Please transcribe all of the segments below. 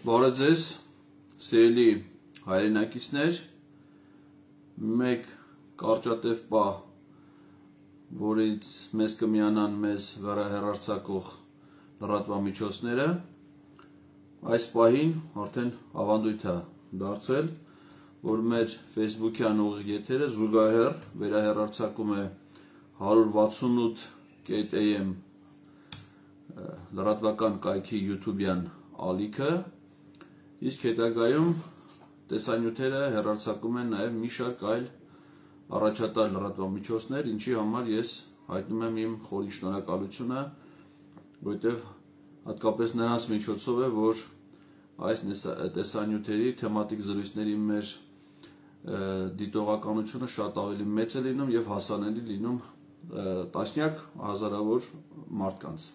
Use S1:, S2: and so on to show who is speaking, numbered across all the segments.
S1: Բարև ձեզ, սիրելի հայրենակիցներ, մեկ կարճատև պահ, որից մեզ կմիանան մեզ վերահեռարձակող լրատվամիջոցները, այս պահին արդեն ավանդույթ է դարձել, որ մեր Facebook-յան ուղիղ եթերը զուգահեռ վերահեռարձակում է 168.am լրատվական կայքի YouTube-յան ալիքը, իսկ հետագայում տեսանյութերը հեռարձակում են նաև մի շարք այլ առաջատար լրատվամիջոցներ, ինչի համար ես հայտնում եմ իմ խորին շնորհակալությունը, որովհետև հատկապես նրանց միջոցով է, որ այս տեսանյութերի թեմատիկ զրույցների մեր դիտողականությունը շատ ավելի մեծ է լինում և հասանելի լինում տասնյակ հազարավոր մարդկանց։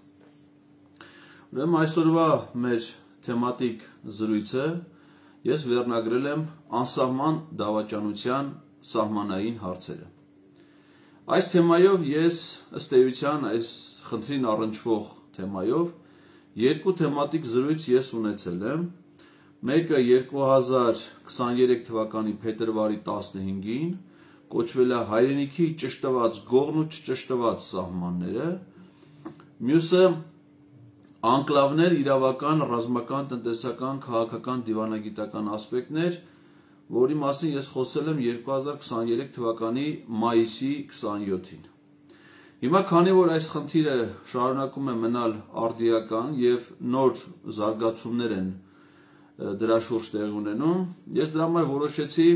S1: Ուրեմն այսօրվա մեր թեմատիկ զրույցը ես վերնագրել եմ անսահման դավաճանության սահմանային հարցերը։ Այս թեմայով ես ըստ էության այս խնդրին առնչվող թեմայով երկու թեմատիկ զրույց ես ունեցել եմ, մեկը 2023 թվականի փետրվարի 15-ին կոչվել է հայրենիքի ճշտված գողն ու չճշտված սահմանները, մյուսը անկլավներ, իրավական, ռազմական, տնտեսական, քաղաքական, դիվանագիտական ասպեկտներ, որի մասին ես խոսել եմ 2023 թվականի մայիսի 27-ին։ Հիմա քանի որ այս խնդիրը շարունակում է մնալ արդիական և նոր զարգացումներ են դրա շուրջ տեղի ունենում, ես դրա համար որոշեցի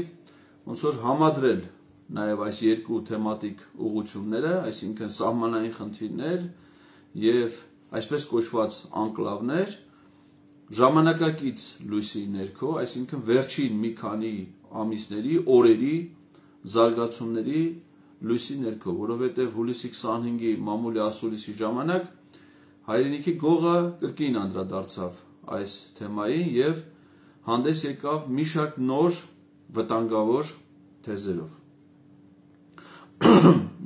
S1: ոնց որ համադրել նաև այս երկու թեմատիկ ուղղությունները, այսինքն սահմանային խնդիրներ և այսպես կոչված անկլավներ, ժամանակակից լույսի ներքո, այսինքն վերջին մի քանի ամիսների, օրերի զարգացումների լույսի ներքո, որովհետև հուլիսի 25-ի մամուլի ասուլիսի ժամանակ հայրենիքի գողը կրկին անդրադարձավ այս թեմային և հանդես եկավ մի շարք նոր վտանգավոր թեզերով։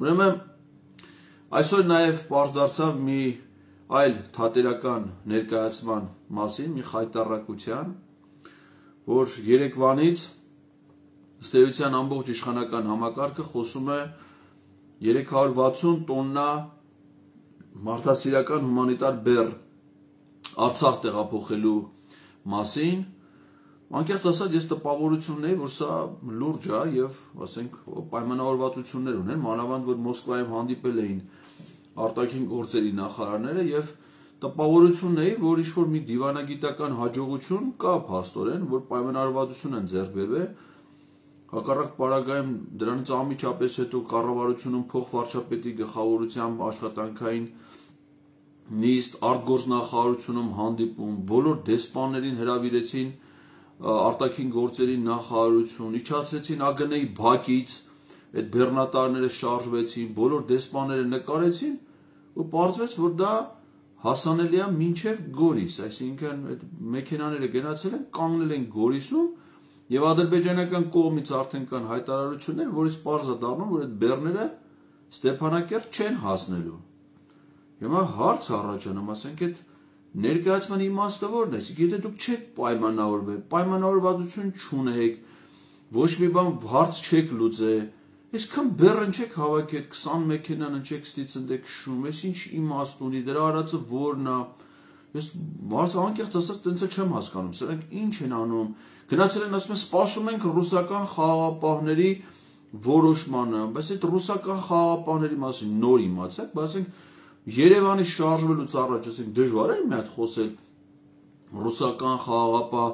S1: Ուրեմն այսօր նաև պարզ դարձավ մի այլ թատերական ներկայացման մասին, մի խայտառակության, որ երեկվանից ըստ էության ամբողջ իշխանական համակարգը խոսում է 360 տոննա մարդասիրական հումանիտար բեռ Արցախ տեղափոխելու մասին, անկեղծ ասած ես տպավորություն ունեի, որ սա լուրջ է և ասենք պայմանավորվածություններ ունեն, մանավանդ որ Մոսկվայում հանդիպել էին արտաքին գործերի նախարարները և տպավորություն ունեի, որ ինչ-որ մի դիվանագիտական հաջողություն կա փաստորեն, որ պայմանավորվածություն են ձեռք բերվել, հակառակ պարագայում դրանից անմիջապես հետո կառավարությունում փոխվարչապետի գլխավորությամբ աշխատանքային նիստ, արտգործնախարարությունում հանդիպում, բոլոր դեսպաններին հրավիրեցին արտաքին գործերի նախարարություն, իջացրեցին ԱԳՆ-ի բակից, այդ բեռնատարները շարժվեցին, բոլոր դեսպանները նկարեցին ու պարզվեց, որ դա հասանելի է մինչև Գորիս, այսինքն այդ մեքենաները գնացել են, կանգնել են Գորիսում և ադրբեջանական կողմից արդեն կան հայտարարություններ, որից պարզ է դառնում, որ այդ բեռները Ստեփանակերտ չեն հասնելու։ Հիմա հարց առաջանում, ասենք այդ ներկայացման իմաստը որն է, եթե դուք չեք պայմանավորվել, պայմանավորվածություն չունեք, ոչ մի բան հարց չեք լուծել, այսքան բեռն չեք հավաքել, 20 մեքենան չեք ստիցնդեք քշում, այս ինչ իմաստ ունի, դրա արածը որն է, ես անկեղծ ասած տենց չեմ հասկանում, սրանք ինչ են անում, գնացել են ասում են սպասում ենք ռուսական խաղաղապահների որոշմանը, բայց այդ ռուսական խաղաղապահների մասին նոր իմացեք, բայց ասենք Երևանի շարժվելուց առաջ ասենք դժվար էր մի հատ խոսել ռուսական խաղաղապահ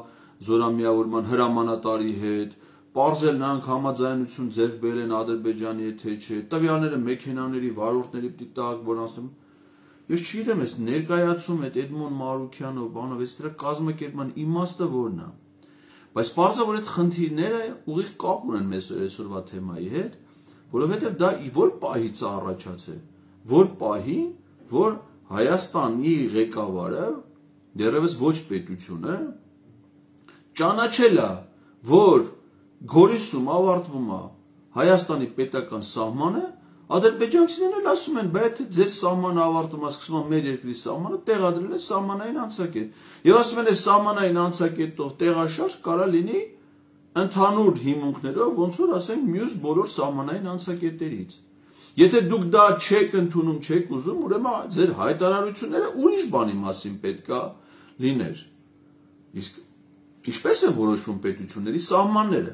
S1: զորամիավորման հրամանատարի հետ, պարզել նրանք համաձայնություն ձեռք բերել են Ադրբեջանի հետ թե չէ, տվյալները մեքենաների, վարորդների պիտի տակ, որ ասում ես չգիտեմ, այս ներկայացում այդ Էդմոն Մարուքյանը, բանով, այս դրա կազմակերպման իմաստը որն է։ Բայց պարզ է, որ այդ խնդիրները ուղիղ կապ ունեն մեզ այսօրվա թեմայի հետ, որովհետև դա որ պահից է առաջացել, որ պահին, որ Հայաստանի ղեկավարը, դեռևս ոչ պետությունը, ճանաչել է, որ Գորիսում ավարտվում է Հայաստանի պետական սահմանը, Ադրբեջանցիներն էլ ասում են, բայց ձեր սահմանը ավարտում է, սկսում է մեր երկրի սահմանը, տեղադրել է սահմանային անցակետ։ Եվ ասում են, այս սահմանային անցակետով տեղաշարժ կարա լինի ընդհանուր հիմունքներով, ոնց որ ասենք մյուս բոլոր սահմանային անցակետերից։ Եթե դուք դա չեք ընդունում, չեք ուզում, ուրեմն ձեր հայտարարությունները ուրիշ բանի մասին պետքա լիներ։ Իսկ ինչպես են որոշվում պետությունների սահմանները։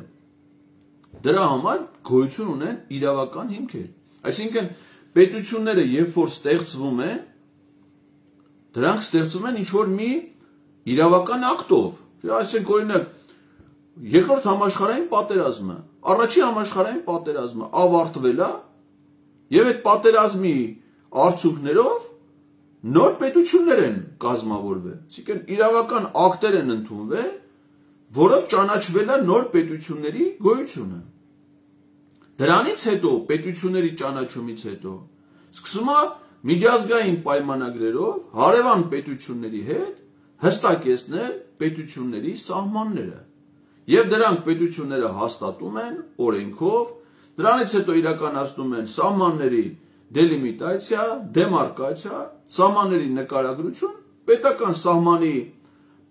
S1: Դրա համար գոյություն ունեն իրավական հիմքեր։ Այսինքն պետությունները երբ որ ստեղծվում են, դրանք ստեղծվում են ինչ-որ մի իրավական ակտով։ Այսինքն օրինակ երկրորդ համաշխարհային պատերազմը, առաջին համաշխարհային պատերազմը ավարտվել է, եւ այդ պատերազմի արդյունքներով նոր պետություններ են կազմավորվել։ Այսինքն իրավական ակտեր են ընդունվել, որով ճանաչվել է նոր պետությունների գոյությունը։ Դրանից հետո պետությունների ճանաչումից հետո սկսում է միջազգային պայմանագրերով հարևան պետությունների հետ հստակեցնել պետությունների սահմանները։ Եվ դրանք պետությունները հաստատում են օրենքով, դրանից հետո իրականացնում են սահմանների դելիմիտացիա, դեմարկացիա, սահմանների նկարագրություն, պետական սահմանի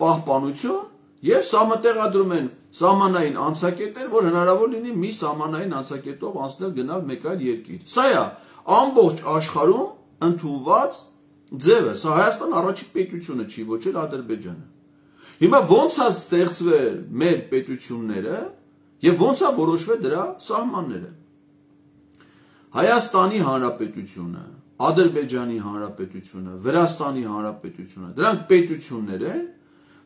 S1: պահպանություն եւ համատեղադրում են սահմանային անցակետեր, որ հնարավոր լինի մի սահմանային անցակետով անցնել գնալ մեկ այլ երկիր։ Սա է ամբողջ աշխարհում ընդունված ձևը։ Սա Հայաստան առաջին պետությունը չի, ոչ էլ Ադրբեջանը։ Հիմա ո՞նց է ստեղծվել մեր պետությունները եւ ո՞նց է որոշվել դրա սահմանները։ Հայաստանի Հանրապետությունը, Ադրբեջանի Հանրապետությունը, Վրաստանի Հանրապետությունը, դրանք պետություններ են,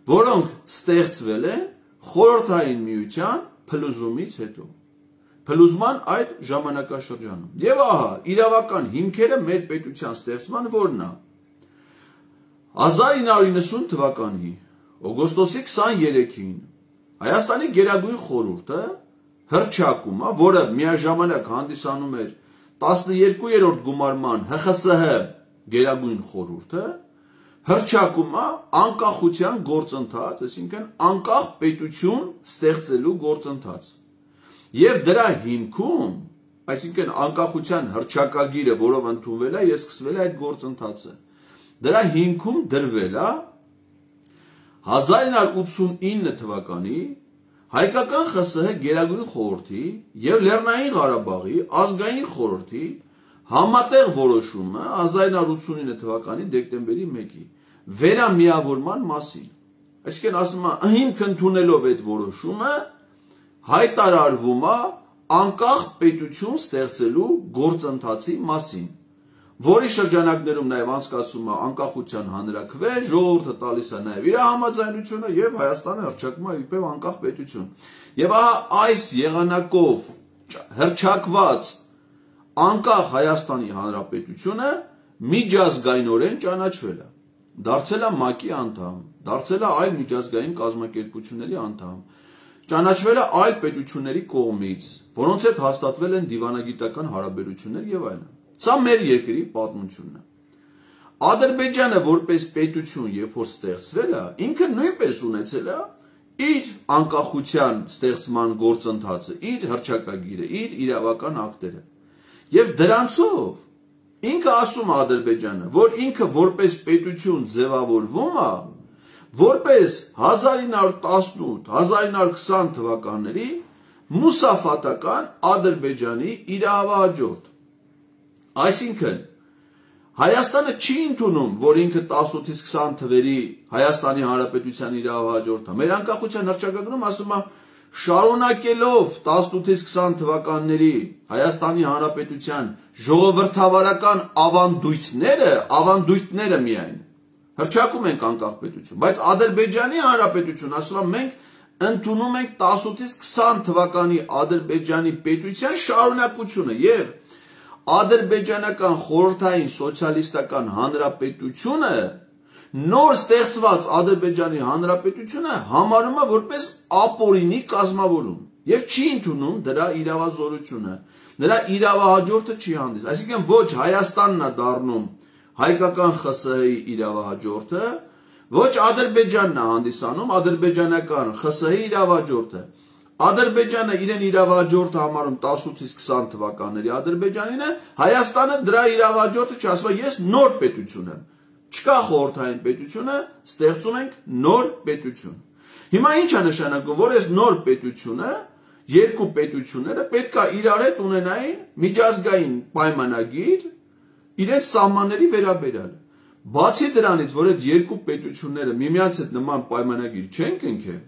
S1: որոնք ստեղծվել են խորհրդային միության փլուզումից հետո, փլուզման այդ ժամանակաշրջանում։ Եվ ահա իրավական հիմքերը մեր պետության ստեղծման որն է։ 1990 թվականի օգոստոսի 23-ին Հայաստանի Գերագույն խորհուրդը հռչակում է, որը միաժամանակ հանդիսանում էր 12-րդ գումարման ՀԽՍՀ Գերագույն խորհուրդը, հռչակում է անկախության գործընթաց, այսինքն անկախ պետություն ստեղծելու գործընթաց։ Եվ դրա հիմքում, այսինքն անկախության հռչակագիրը, որով ընդունվել է եւ սկսվել է այդ գործընթացը, դրա հիմքում դրվել է 1989 թվականի Հայկական ԽՍՀ Գերագույն խորհրդի եւ Լեռնային Ղարաբաղի ազգային խորհրդի համատեղ որոշումը 1989 թվականի դեկտեմբերի 1-ի վերամիավորման մասին։ Այսինքն ասում է, հիմք ընդունելով այդ որոշումը հայտարարվում է անկախ պետություն ստեղծելու գործընթացի մասին, որի շրջանակներում նաև անցկացում է անկախության հանրաքվե, ժողովուրդը տալիս է նաև իր համաձայնությունը եւ Հայաստանը հռչակում է իբրև անկախ պետություն։ Եվ այս եղանակով հռչակված անկախ Հայաստանի Հանրապետությունը միջազգայինորեն ճանաչվել է, դարձել է ՄԱԿ-ի անդամ, դարձել է այլ միջազգային կազմակերպությունների անդամ, ճանաչվել է այլ պետությունների կողմից, որոնց հետ հաստատվել են դիվանագիտական հարաբերություններ եւ այլն։ Սա մեր երկրի պատմությունն է։ Ադրբեջանը որպես պետություն, երբ որ ստեղծվել է, ինքը նույնպես ունեցել է իր անկախության ստեղծման գործընթացը, իր հռչակագիրը, իր իրավական ակտերը։ Եւ դրանցով ինքը ասում է Ադրբեջանը, որ ինքը որպես պետություն ձևավորվում է, որպես 1918-1920 թվականների մուսաֆատական Ադրբեջանի իրավահաջորդ։ Այսինքն Հայաստանը չի ընդունում, որ ինքը 18-ից 20 թվերի Հայաստանի Հանրապետության իրավահաջորդը։ Մեր անկախության հռչակագրում ասում է, շարունակելով 18-ից 20 թվականների Հայաստանի Հանրապետության ժողովրդավարական ավանդույթները միայն հռչակում ենք անկախ պետություն, բայց Ադրբեջանի Հանրապետություն ասում է, մենք ընդունում ենք 18-ից 20 թվականի Ադրբեջանի պետության շարունակությունը եւ Ադրբեջանական խորհրդային սոցիալիստական հանրապետությունը նոր ստեղծված Ադրբեջանի հանրապետությունը համարում է որպես ապօրինի կազմավորում եւ չի ընդունում դրա իրավազորությունը, նրա իրավահաջորդը չի հանդես, այսինքն ոչ Հայաստանն է դառնում հայկական ԽՍՀ-ի իրավահաջորդը, ոչ Ադրբեջանն է հանդիսանում ադրբեջանական ԽՍՀ-ի իրավահաջորդը, Ադրբեջանը իրեն իրավաճորտը համարում 18-ից 20 թվականների Ադրբեջանին է, Հայաստանը դրա իրավաճորտը չի, ասում է ես նոր պետություն եմ։ Չկա խորհրդային պետությունը, ստեղծում ենք նոր պետություն։ Հիմա ինչ է նշանակում, որ այս նոր պետությունը, երկու պետությունները պետք է իրար հետ ունենային միջազգային պայմանագիր իրենց սահմանների վերաբերյալ։ Բացի դրանից, որ այդ երկու պետությունները միմյանց հետ նման պայմանագիր չեն կնքել,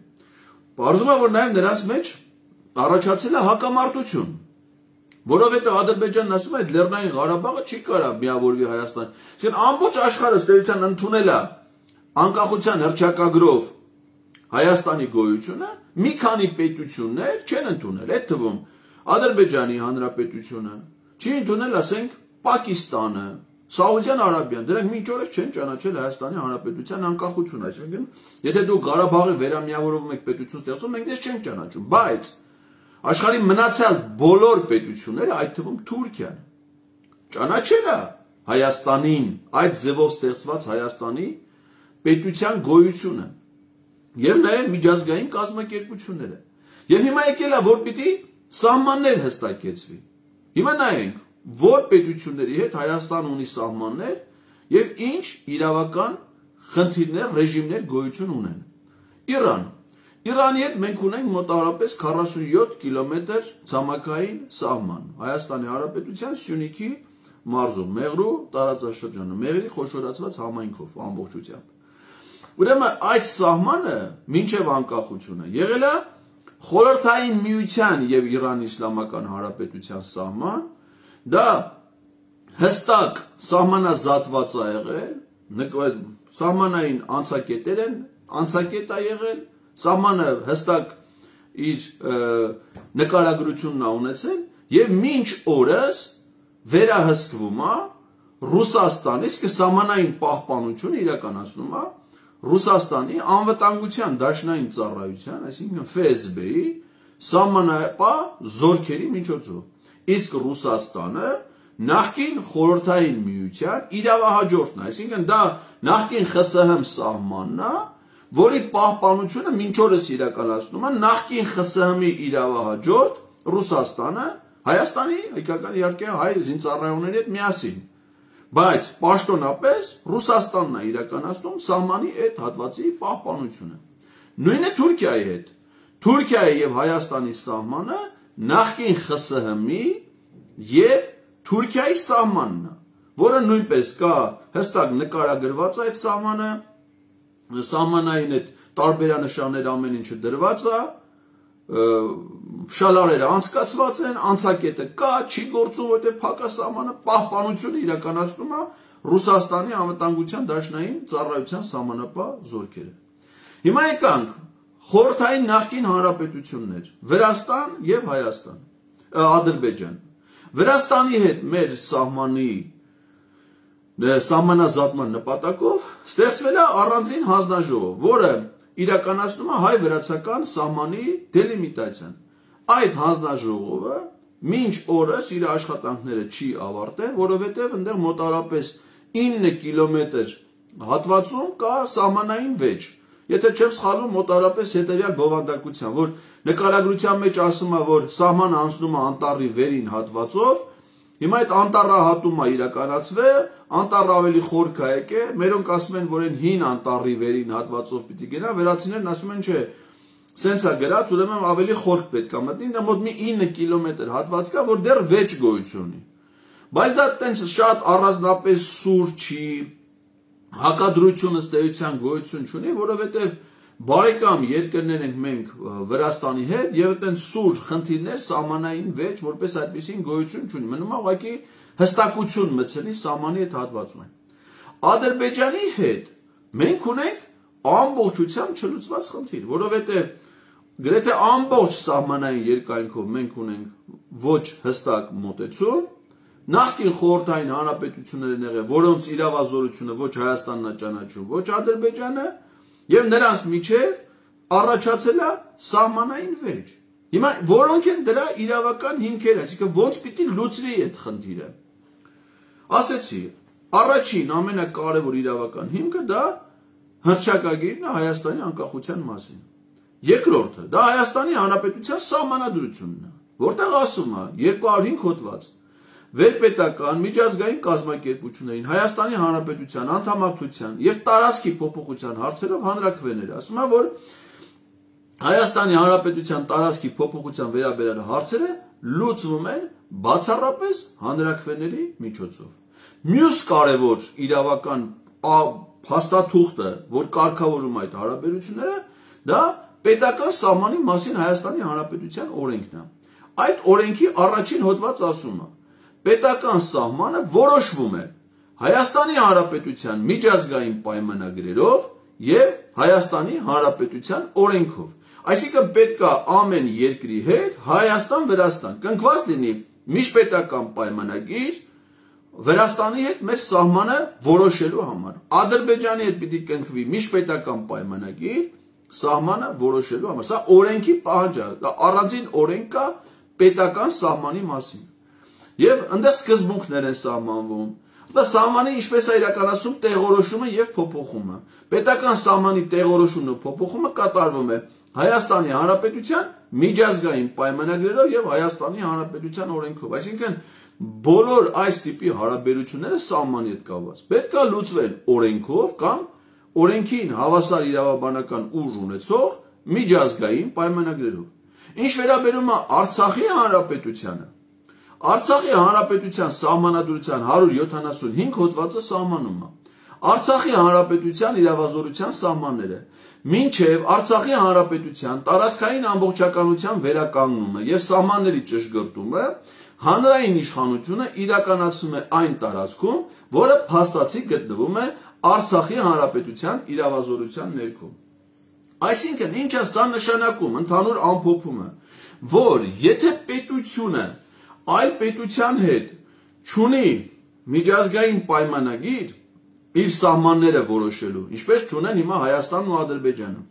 S1: պարզվում է, որ նաև նրանց մեջ առաջացել է հակամարտություն, որովհետև Ադրբեջանն ասում է, այդ Լեռնային Ղարաբաղը չի կարող միավորվի Հայաստան։ Այսինքն ամբողջ աշխարհը ստերության ընդունել է անկախության հռչակագրով Հայաստանի գոյությունը, մի քանի պետություններ չեն ընդունել, այդ թվում Ադրբեջանի Հանրապետությունը, չի ընդունել, ասենք, Պակիստանը, Սաուդյան Արաբիան, դրանք մինչ օրս չեն ճանաչել Հայաստանի Հանրապետության անկախությունը, այսինքն, եթե դուք Ղարաբաղի վերամիավորվում եք պետություն ստեղծում, մենք դες չենք ճանաչում, բայց աշխարհի մնացած բոլոր պետությունները, այդ թվում Թուրքիան, ճանաչել է Հայաստանին, այդ ձևով ստեղծված Հայաստանի պետության գոյությունը եւ նաեւ միջազգային կազմակերպությունները։ Եվ հիմա եկել է, որ պիտի սահմաններ հստակեցվի։ Հիմա նայենք, որ պետությունների հետ Հայաստան ունի սահմաններ եւ ինչ իրավական խնդիրներ, ռեժիմներ գոյություն ունեն։ Իրան։ Իրանի հետ մենք ունենք մոտավորապես 47 կիլոմետր ցամաքային սահման Հայաստանի Հանրապետության Սյունիքի մարզում, Մեղրու տարածաշրջանը, Մեղրի խոշորացված համայնքով ամբողջությամբ։ Ուրեմն այդ սահմանը մինչև անկախությունը եղել է Խորհրդային Միության եւ Իրանի Իսլամական Հանրապետության սահման, դա հստակ սահմանազատված է եղել, սահմանային անցակետեր են, անցակետ է եղել, սահմանը հստակ իր նկարագրությունն է ունեցել եւ մինչ օրս վերահսկվում է Ռուսաստանի, իսկ սահմանային պահպանությունը իրականացնում է Ռուսաստանի անվտանգության դաշնային ծառայության, այսինքն ՖՍԲ-ի սահմանապահ զորքերի միջոցով։ Իսկ Ռուսաստանը նախկին խորհրդային միության իրավահաջորդն է, այսինքն դա նախկին ԽՍՀՄ սահմանն է, որի պահպանությունը մինչ օրս իրականացնում է նախկին ԽՍՀՄ-ի իրավահաջորդ Ռուսաստանը, Հայաստանի հայկական իհարկե հայ զինծառայողների հետ միասին։ Բայց պաշտոնապես Ռուսաստանն է իրականացնում սահմանի այդ հատվածի պահպանությունը։ Նույնը Թուրքիայի հետ։ Թուրքիայի եւ Հայաստանի սահմանը նախկին ԽՍՀՄ-ի եւ Թուրքիայի սահմանն է, որը նույնպես կա հստակ նկարագրված է այդ սահմանը, սահմանային այդ տարբերանշաններ ամեն ինչը դրված է, շալարերը անցկացված են, անցակետը կա, չի գործում, որտեղ փակասահմանը պահպանությունը իրականացնում է Ռուսաստանի անվտանգության դաշնային ծառայության սահմանապահ զորքերը։ Հիմա եկանք խորհրդային նախկին հանրապետություններ՝ Վրաստան եւ Հայաստան, Ադրբեջան։ Վրաստանի հետ մեր սահմանազատման նպատակով ստեղծվել է առանձին հանձնաժողով, որը իրականացնում է հայ-վրացական սահմանի դելիմիտացիան։ Այդ հանձնաժողովը մինչ օրս իր աշխատանքները չի ավարտել, որովհետև այնտեղ մոտավորապես 9 կիլոմետր հատվածում կա սահմանային վեճ։ Եթե չեմ սխալվում, մոտավորապես հետևյալ բովանդակության, որ նկարագրության մեջ ասում է, որ սահմանը անցնում է անտառի վերին հատվածով, հիմա այդ անտառահատումը իրականացվել, անտառը ավելի խորք է եկել, մերոնք ասում են, որ այն հին անտառի վերին հատվածով պիտի գնա, վերացիներն ասում են, չէ, սենց է գրած, ուրեմն ավելի խորք պետք է մտնի, դա մոտ մի 9 կիլոմետր հատված կա, որ դեռ վեճ գոյություն ունի։ Բայց դա տենց շատ առանձնապես սուր չի, հակադրությունը ստեյության գոյություն չունի, որովհետև բարեկամ երկրներ ենք մենք Վրաստանի հետ եւ այդտենց սուր խնդիրներ սահմանային վեճ որպես այդպեսին գոյություն չունի։ Մնում է ուղղակի հստակություն մտցնի սահմանի այդ հատվածում։ Ադրբեջանի հետ մենք ունենք ամբողջությամբ չլուծված խնդիր, որովհետեւ գրեթե ամբողջ սահմանային երկայնքով մենք ունենք ոչ հստակ մոտեցում, նախկին խորհրդային հանրապետություններ են եղել, որոնց իրավազորությունը ոչ Հայաստանն է ճանաչում, ոչ Ադրբեջանը, եւ նրանց միջև առաջացել է սահմանային վեճ։ Հիմա որոնք են դրա իրավական հիմքերը, այսինքն ոնց պիտի լուծվի այդ խնդիրը։ Ասեցի, առաջին ամենակարևոր իրավական հիմքը դա հռչակագիրն է Հայաստանի անկախության մասին։ Երկրորդը դա Հայաստանի Հանրապետության սահմանադրությունն է, որտեղ ասում է 205 հոդված վերպետական միջազգային կազմակերպություններին Հայաստանի Հանրապետության անդամակցության եւ տարածքի փոփոխության հարցերով հանրաքվեներ, ասում է, որ Հայաստանի Հանրապետության տարածքի փոփոխության վերաբերյալ հարցերը լուծվում են բացառապես հանրաքվեների միջոցով։ Մյուս կարևոր իրավական փաստաթուղթը, որ կարգավորում այդ հարաբերությունները, դա պետական սահմանի մասին Հայաստանի Հանրապետության օրենքն է։ Այդ օրենքի առաջին հոդված ասում է. պետական սահմանը որոշվում է Հայաստանի Հանրապետության միջազգային պայմանագրերով եւ Հայաստանի Հանրապետության օրենքով։ Այսինքն պետք է ամեն երկրի հետ Հայաստան-Վրաստան կնքված լինի միջպետական պայմանագիր Վրաստանի հետ մեր սահմանը որոշելու համար։ Ադրբեջանի հետ պիտի կնքվի միջպետական պայմանագիր սահմանը որոշելու համար։ Սա օրենքի պահանջ է, դա առանձին օրենք կա պետական սահմանի մասին։ Եվ այնտեղ սկզբունքներ են սահմանվում։ Դա սահմանի ինչպես է իրականացում տեղորոշումը եւ փոփոխումը։ Պետական սահմանի տեղորոշումն ու փոփոխումը կատարվում է Հայաստանի Հանրապետության միջազգային պայմանագրերով եւ Հայաստանի Հանրապետության օրենքով։ Այսինքն բոլոր այս տիպի հարաբերությունները սահմանի հետ կապված պետք է լուծվեն օրենքով կամ օրենքին հավասար իրավաբանական ուժ ունեցող միջազգային պայմանագրերով։ Ինչ վերաբերում է Արցախի Հանրապետությանը, Արցախի Հանրապետության սահմանադրության 175 հոդվածը սահմանում է Արցախի Հանրապետության իրավազորության սահմանները, մինչև Արցախի Հանրապետության տարածքային ամբողջականության վերականգնումը եւ սահմանների ճշգրտումը հանրային իշխանությունը իրականացում է այն տարածքում, որը փաստացի գտնվում է Արցախի Հանրապետության իրավազորության ներքո։ Այսինքն ինչ է սա նշանակում, ընդհանուր ամփոփումը, որ եթե պետությունը այլ պետության հետ չունի միջազգային պայմանագիր իր սահմանները որոշելու, ինչպես չունեն հիմա Հայաստանն ու Ադրբեջանը,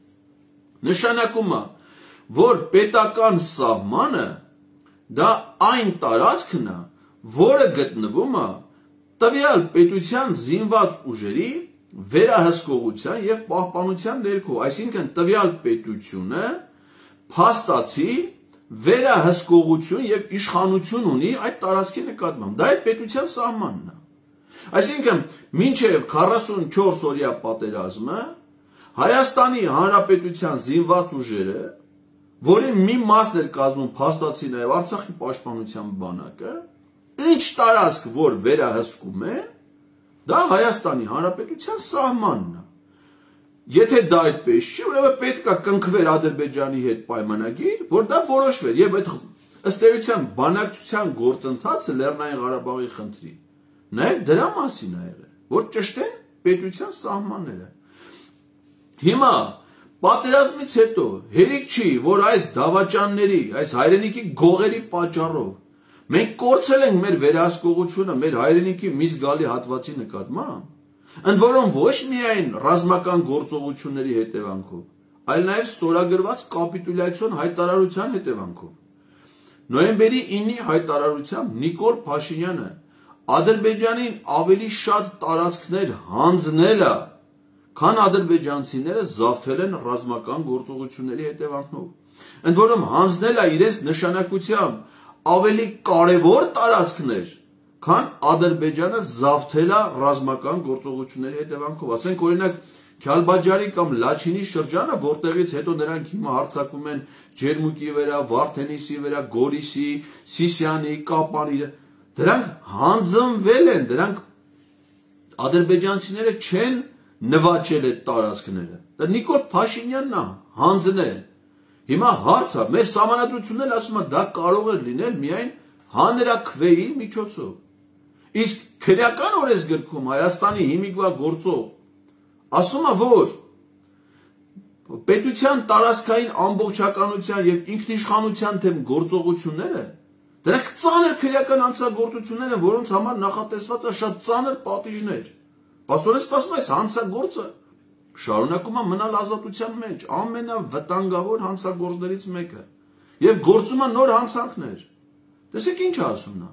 S1: նշանակում է, որ պետական սահմանը դա այն տարածքն է, որը գտնվում է տվյալ պետության զինված ուժերի վերահսկողության եւ պահպանության ներքո, այսինքն տվյալ պետությունը փաստացի վերահսկողություն եւ իշխանություն ունի այդ տարածքի նկատմամբ։ Դա այդ պետության սահմանն է։ Այսինքն մինչև 44 օրյա պատերազմը Հայաստանի Հանրապետության զինված ուժերը, որի մի մասն էր կազմում փաստացի նաեւ Արցախի պաշտպանության բանակը, ինչ տարածք որ վերահսկում է, դա Հայաստանի Հանրապետության սահմանն է։ Եթե դա այդպես չի, ուրեմն պետք է կնքվեր Ադրբեջանի հետ պայմանագիր, որ դա որոշվեր, եւ այդ ըստ էության բանակցության գործընթացը Լեռնային Ղարաբաղի խնդրի նաեւ դրա մասին է եղել, որ ճշտեն պետության սահմանները։ Հիմա պատերազմից հետո հերիք չի, որ այս դավաճանների, այս հայրենիքի գողերի պատճառով մենք կորցրել ենք մեր վերահսկողությունը մեր հայրենիքի մի զգալի հատվածի նկատմամբ, ընդ որում ոչ միայն ռազմական գործողությունների հետևանքով, այլ նաև ստորագրված կապիտուլյացիոն հայտարարության հետևանքով։ Նոյեմբերի 9-ի հայտարարությամբ Նիկոլ Փաշինյանը Ադրբեջանին ավելի շատ տարածքներ հանձնել է, քան ադրբեջանցիները զավթել են ռազմական գործողությունների հետևանքով։ Ընդ որում հանձնել է իրենց նշանակությամբ ավելի կարևոր տարածքներ, քան Ադրբեջանը զավթել է ռազմական գործողությունների հետևանքով։ Ասենք օրինակ Քյալբաջարի կամ Լաչինի շրջանը, որտեղից հետո նրանք հիմա հարձակվում են Ջերմուկի վրա, Վարդենիսի վրա, Գորիսի, Սիսիանի, Կապանի, դրանք հանձնվել են, դրանք ադրբեջանցիները չեն նվաճել այդ տարածքները։ Դա Նիկոլ Փաշինյանն է հանձնել։ Հիմա հարցը, մեր սահմանադրությունն ասում է դա կարող է լինել միայն հանրաքվեի միջոցով։ Իսկ քրեական օրենսգրքում Հայաստանի հիմիկվա գործող ասում է, որ պետության տարածքային ամբողջականության եւ ինքնիշխանության թեմ գործողությունները դրանք ծանր քրեական հանցագործություններ են, որոնց համար նախատեսված է շատ ծանր պատիժներ։ Պաստորեն սպասում այս հանցագործը շարունակում է մնալ ազատության մեջ, ամենավտանգավոր հանցագործներից մեկը, եւ գործում է նոր հանցանքներ։ Տեսեք ինչ է ասում նա։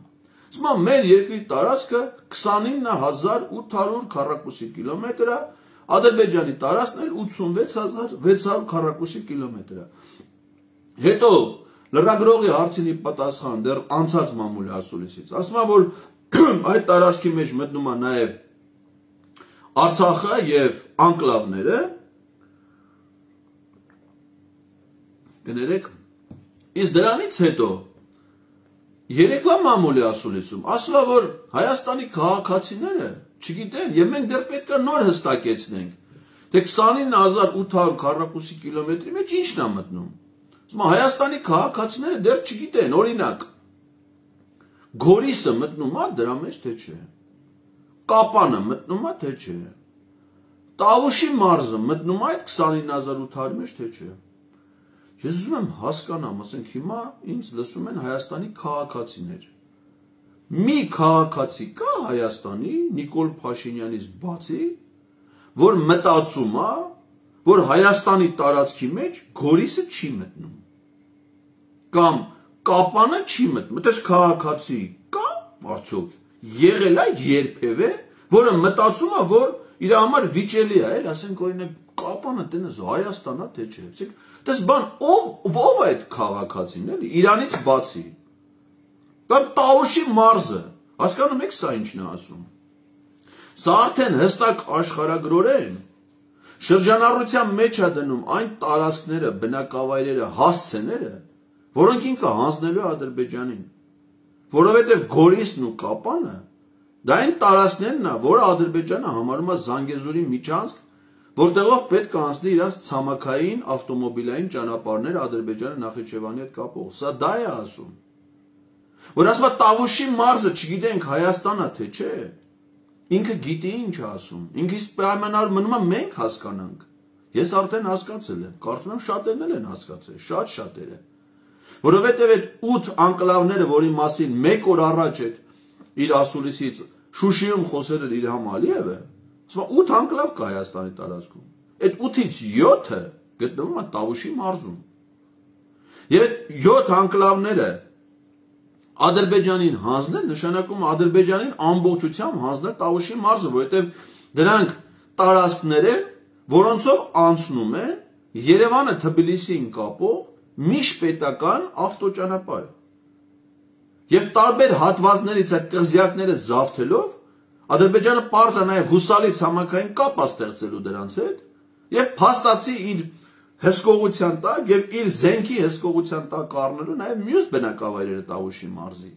S1: Ասում է մեր երկրի տարածքը 29800 քառակուսի կիլոմետր է, Ադրբեջանի տարածքն էլ 86,600 քառակուսի կիլոմետր է։ Հետո լրագրողի հարցինի պատասխան դեռ անցած մամուլի ասուլիսից ասում է, որ այդ տարածքի մեջ մտնում է նաև Արցախը եւ անկլավները, կներեք, իսկ դրանից հետո երեկվա մամուլի ասուլիսում ասում է, որ Հայաստանի քաղաքացիները չգիտեն, եւ մենք դեռ պետք է նոր հստակեցնենք, թե 29800 քառակուսի կիլոմետրի մեջ ինչն է մտնում։ Ասում է, Հայաստանի քաղաքացիները դեռ չգիտեն, օրինակ, Գորիսը մտնում է դրա մեջ, թե չէ։ Կապանը մտնում է, թե չէ։ Տավուշի մարզը մտնում է այդ 29800 մեջ, թե չէ։ Ես ուզում եմ հասկանամ, ասենք հիմա ինձ լսում են Հայաստանի քաղաքացիներ։ Մի քաղաքացի կա Հայաստանի Նիկոլ Փաշինյանից բացի, որ մտածում է, որ Հայաստանի տարածքի մեջ Գորիսը չի մտնում։ Կամ Կապանը չի մտնում, այդպես քաղաքացի կա, արդյոք եղել է երբևէ, որը մտածում է, որ իր համար վիճելի է, ասենք օրինակ Կապանը տենես Հայաստան է, թե չէ։ Դες բան ով է այդ քաղաքացին, էլի, Իրանից բացի։ Կամ Տավուշի մարզը, հասկանում եք սա ինչն է ասում։ Սա արդեն հստակ աշխարհագրորեն շրջանառության մեջ է դնում այն տարածքները, բնակավայրերը, հասցեները, որոնք ինքը հանձնելու է Ադրբեջանին, որովհետև Գորիսն ու Կապանը դա այն տարածքներն է, որը Ադրբեջանը համարում է Զանգեզուրի միջանցք, որտեղով պետք է անցնի իրաց ցամաքային ավտոմոբիլային ճանապարհները Ադրբեջանը Նախիջևանի հետ կապող։ Սա դա է ասում։ Որ ասում է Տավուշի մարզը չգիտենք Հայաստան է թե չէ, ինքը գիտի ինչ է ասում։ Ինքը պայմանավոր մնում է մենք հասկանանք։ Ես արդեն հասկացել եմ, կարծում եմ շատերն էլ են հասկացել, շատ շատերը։ Որովհետև այդ 8 անկլավները, որի մասին 1 օր առաջ իր ասուլիսից Շուշիում խոսել էր Իլհամ Ալիևը, ասում է 8 անկլավ կա Հայաստանի տարածքում։ Այդ 8-ից 7-ը գտնվում է Տավուշի մարզում։ Եվ այդ 7 անկլավները Ադրբեջանին հանձնել նշանակում է Ադրբեջանին ամբողջությամբ հանձնել Տավուշի մարզը, որովհետև դրանք տարածքներ են, որոնցով անցնում է Երևանը Թբիլիսիին կապող միջպետական ավտոճանապարհ։ Եվ տարբեր հատվածներից այդ կղզյակները զավթելով Ադրբեջանը պարզ է նաև հուսալի ցամաքային կապ է ստեղծելու դրանց հետ եւ փաստացի իր հսկողության տակ եւ իր զենքի հսկողության տակ առնելու նաև մյուս բնակավայրերը Տավուշի մարզի։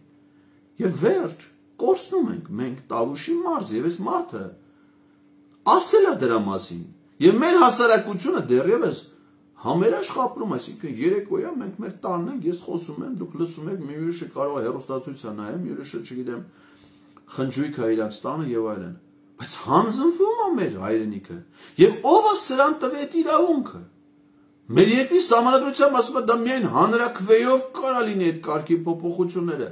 S1: Եվ վերջ կորցնում ենք մենք Տավուշի մարզը եւ այս մարդը ասել է դրա մասին։ Եվ մեր հասարակությունը դեռևս համերաշխ ապրում, այսինքն երեկոյան մենք մեր տանն ենք, ես խոսում եմ, դուք լսում եք, մի ուրիշը կարող է հեռուստացույց նայեմ, ուրիշը չգիտեմ խնջույք է իրաց տանը եւ այլն, բայց հանձնվում է մեր հայրենիքը եւ ով է սրան տվի այդ իրավունքը։ Մեր երկրի սահմանադրությամբ ասում է դա միայն հանրաքվեով կարա լինի այդ կարգի փոփոխությունները։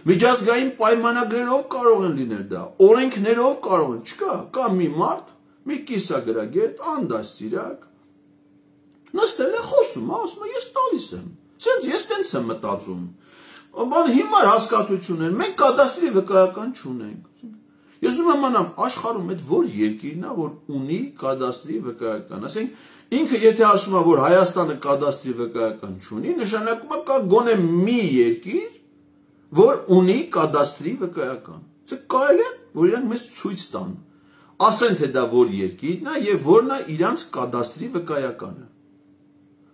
S1: Միջազգային պայմանագրերով կարող են լինել դա, օրենքներով կարող են, չկա, կա մի մարդ, մի կիսագրագետ, անդաստիրակ, նստել է խոսում, ասում է ես տալիս եմ, սենց ես տենց եմ մտածում, բան հիմար հասկացություն են, մենք կադաստրի վկայական չունենք։ Ես ուզում եմ անամ աշխարհում այդ որ երկիրն է, որ ունի կադաստրի վկայական, ասենք ինքը եթե ասում է, որ Հայաստանը կադաստրի վկայական չունի, նշանակում է կա գոնե մի երկիր, որ ունի կադաստրի վկայական։ Це կարելի է, որ իրանք մեզ ցույց տան, ասեն թե դա որ երկիրն է եւ որն է իրանց կադաստրի վկայականը։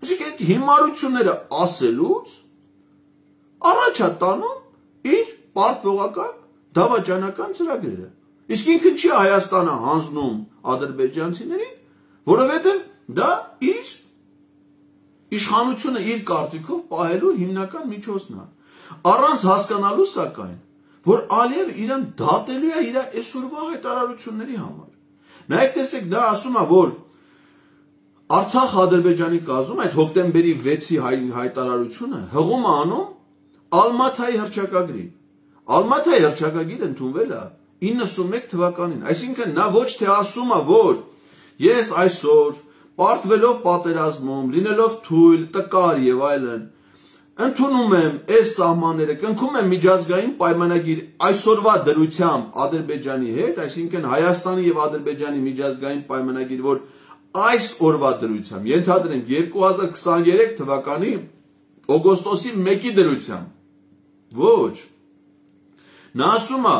S1: Իսկ այդ հիմարությունները ասելուց առաջ է տանում իր պարտվողական դավաճանական ծրագրերը։ Իսկ ինքը չի Հայաստանը հանձնում ադրբեջանցիներին, որովհետև դա իր իշխանությունը իր կարծիքով պահելու հիմնական միջոցն է։ Առանց հասկանալու սակայն, որ Ալիևը իրան դատելու է իր այսօրվա հայտարարությունների համար։ Նայեք տեսեք, դա ասում է, որ Արցախ Ադրբեջանի կազմում այդ հոկտեմբերի 6-ի հայտարարությունը հղում է անում Ալմաթայի հռչակագրի։ Ալմաթայի հռչակագիրը ընդունվել է 91 թվականին, այսինքն նա ոչ թե ասում է, որ ես այսօր պարտվելով պատերազմում, լինելով թույլ, տկար եւ այլն, ընդունում եմ այս սահմանները, կնքում եմ միջազգային պայմանագիր այսօրվա դրությամբ Ադրբեջանի հետ, այսինքն Հայաստանի եւ Ադրբեջանի միջազգային պայմանագիր, որ այս օրվա դրությամբ, ենթադրենք 2023 թվականի օգոստոսի 1-ի դրությամբ։ Ոչ։ Նա ասում է,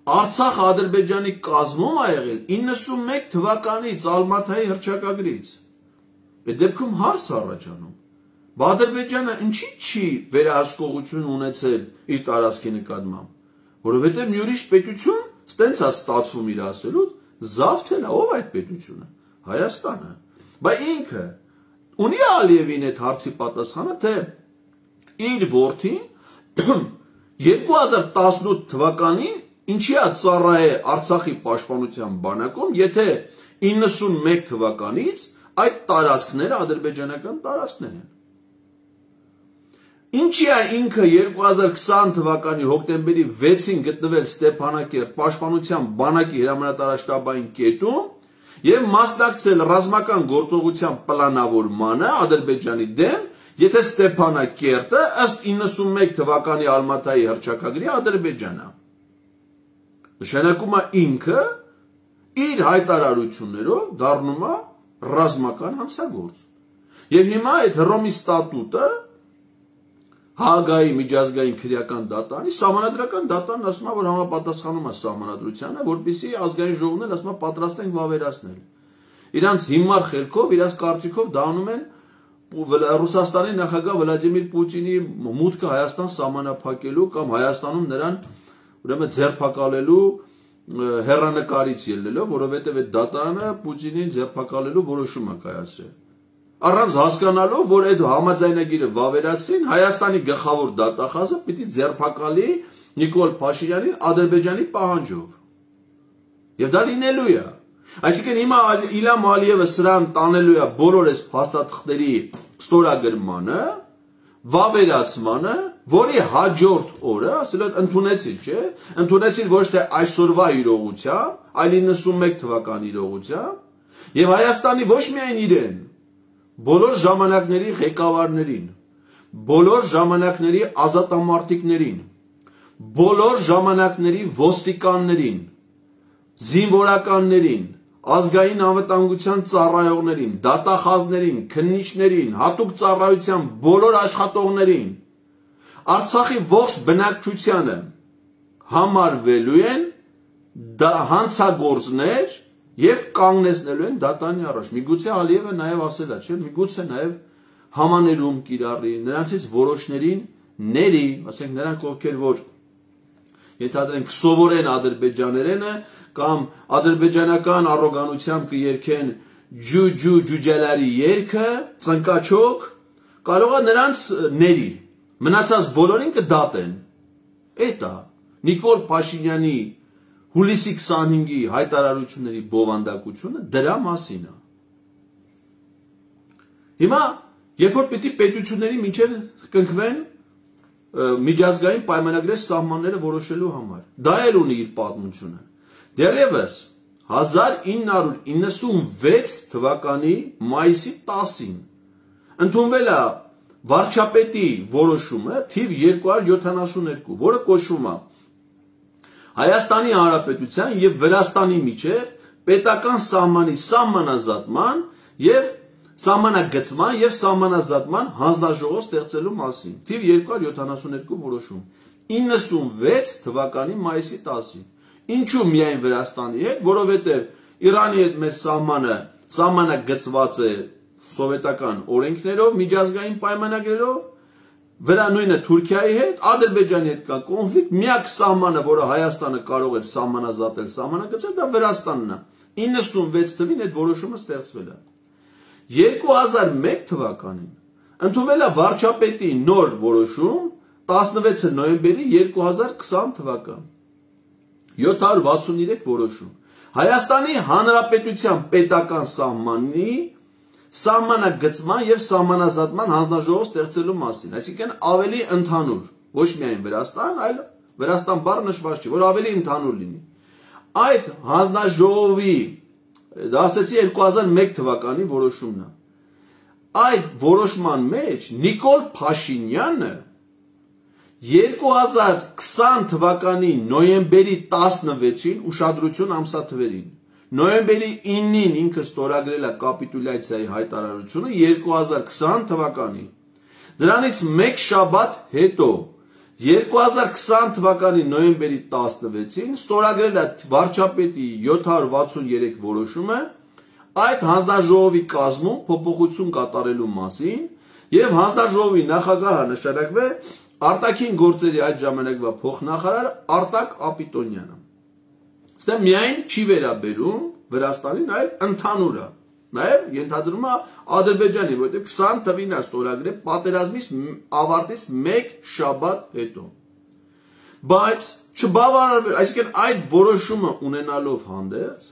S1: Արցախ Ադրբեջանի կազմում է եղել 91 թվականից Ալմաթայի հռչակագրից։ Այդ դեպքում հարց առաջանում։ Ադրբեջանը ինչի չի վերահսկողություն ունեցել իր տարածքի նկատմամբ, որովհետև յուրիշ պետություն ստենց է ստացվում իր ասելուց, զավթել է, ով այդ պետությունը, Հայաստանը։ Բայց ինքը ունի Ալիևին այդ հարցի պատասխանը, թե իր որդին 2018 թվականին ինչի է ծառայե Արցախի պաշտպանության բանակում, եթե 91 թվականից այդ տարածքները ադրբեջանական տարածքներ են։ Ինչի է ինքը 2020 թվականի հոկտեմբերի 6-ին գտնվել Ստեփանակերտ պաշտպանության բանակի հրամանատարաշտաբային կետում եւ մասնակցել ռազմական գործողության պլանավորմանը Ադրբեջանի դեմ, եթե Ստեփանակերտը ըստ 91 թվականի Ալմաթայի հռչակագրի Ադրբեջանա։ Նշանակում է ինքը իր հայտարարություններով դառնում է ռազմական հանցագործ։ Եվ հիմա այդ Հռոմի ստատուտը Հաագայի միջազգային քրեական դատարանի սահմանադրական դատարանն ասում է, որ համապատասխանում է սահմանադրությանը, որպեսզի ազգային ժողովն էլ ասում է պատրաստ ենք վավերացնել։ Իրանց հիմար խելքով, իրանց կարծիքով դա անում են Ռուսաստանի նախագահ Վլադիմիր Պուտինի մուտքը Հայաստան սահմանափակելու կամ Հայաստանում նրան ուրեմն ձերբակալելու հեռանկարից ելնելով, որովհետև այդ դատարանը Պուտինին ձերբակալելու որոշում է կայացրել։ Առանց հասկանալով, որ այդ համաձայնագիրը վավերացրին, Հայաստանի գլխավոր դատախազը պիտի ձերբակալի Նիկոլ Փաշինյանին Ադրբեջանի պահանջով։ Եվ դա լինելու է։ Այսինքն հիմա Իլհամ Ալիևը սրան տանելու է բոլոր այս փաստաթղթերի ստորագրմանը, վավերացմանը, որի հաջորդ օրը, ասել են ընդունեցին, չէ՞, ընդունեցին ոչ թե այսօրվա իրողությամբ, այլ 91 թվականի իրողությամբ, եւ Հայաստանի ոչ միայն իրեն, բոլոր ժամանակների ղեկավարներին, բոլոր ժամանակների ազատամարտիկներին, բոլոր ժամանակների ոստիկաններին, զինվորականներին, ազգային անվտանգության ծառայողներին, դատախազներին, քննիչներին, հատուկ ծառայության բոլոր աշխատողներին, Արցախի ողջ բնակչությանը համարվելու են հանցագործներ եւ կանգնեցնելու են դատարանի առաջ։ Միգուցե Ալիևը նաեւ ասել է, չէ՞, միգուցե նաեւ համաներում կիրառի, նրանցից որոշներին ների, ասենք նրանք ովքեր որ ենթադրենք սովորեն ադրբեջաներենը կամ ադրբեջանական առոգանությամբ կերքեն ջուջելարի երգը, ծնկաչոք, կարող է նրանց ների, մնացած բոլորին կդատեն։ Էդ է Նիկոլ Փաշինյանի հուլիսի 25-ի հայտարարությունների բովանդակությունը դրա մասին է։ Հիմա, երբ որ պիտի պետությունների միջև կնքվեն միջազգային պայմանագրեր սահմանները որոշելու համար, դա էլ ունի իր պատմությունը։ Դեռևս 1996 թվականի մայիսի 10-ին ընդունվել է վարչապետի որոշումը թիվ 272, որը կոչվում է Հայաստանի Հանրապետության եւ Վրաստանի միջև պետական սահմանի սահմանազատման եւ սահմանագծման եւ սահմանազատման հանձնաժողով ստեղծելու մասին։ Թիվ 272 որոշում 96 թվականի մայիսի 10-ին։ Ինչու միայն Վրաստանի հետ, որովհետեւ Իրանի հետ մեր սահմանը սահմանագծված է սովետական օրենքներով, միջազգային պայմանագրերով, վրա նույնը Թուրքիայի հետ, Ադրբեջանի հետ կա կոնֆլիկտ, միակ սահմանը, որը Հայաստանը կարող էր սահմանազատել, սահմանագծել, դա Վրաստանն է։ 96 թվին այդ որոշումը ստեղծվել է։ 2001 թվականին ընդունվել է վարչապետի նոր որոշում 16 նոյեմբերի 2020 թվական 763 որոշում Հայաստանի Հանրապետության պետական սահմանի սահմանագծման եւ սահմանազատման հանձնաժողով ստեղծելու մասին, այսինքն ավելի ընդհանուր, ոչ միայն Վրաստան, այլ Վրաստան բառը նշված չի, որ ավելի ընդհանուր լինի։ Այդ հանձնաժողովի, դա ասեցի 2001 թվականի որոշումն է։ այդ որոշման մեջ Նիկոլ Փաշինյանը 2020 թվականի նոյեմբերի 16-ին ուշադրություն ամսաթվերին, նոյեմբերի 9-ին ինքը ստորագրել է կապիտուլյացիայի հայտարարությունը 2020 թվականի, դրանից մեկ շաբաթ հետո 2020 թվականի նոյեմբերի 16-ին ստորագրել է վարչապետի 763 որոշումը այդ հանձնաժողովի կազմում փոփոխություն կատարելու մասին եւ հանձնաժողովի նախագահը նշանակվել արտաքին գործերի այդ ժամանակվա փոխնախարար Արտակ Ապիտոնյանը։ Ստե միայն չի վերաբերում Վրաստանին, այլ ընդհանուր է։ Նաեւ ենթադրում է Ադրբեջանի, որտեղ 20 թվին է ստորագրել պատերազմից ավարտից մեկ շաբաթ հետո։ Բայց չբավարարվել, այսինքն այդ որոշումը ունենալով հանդերձ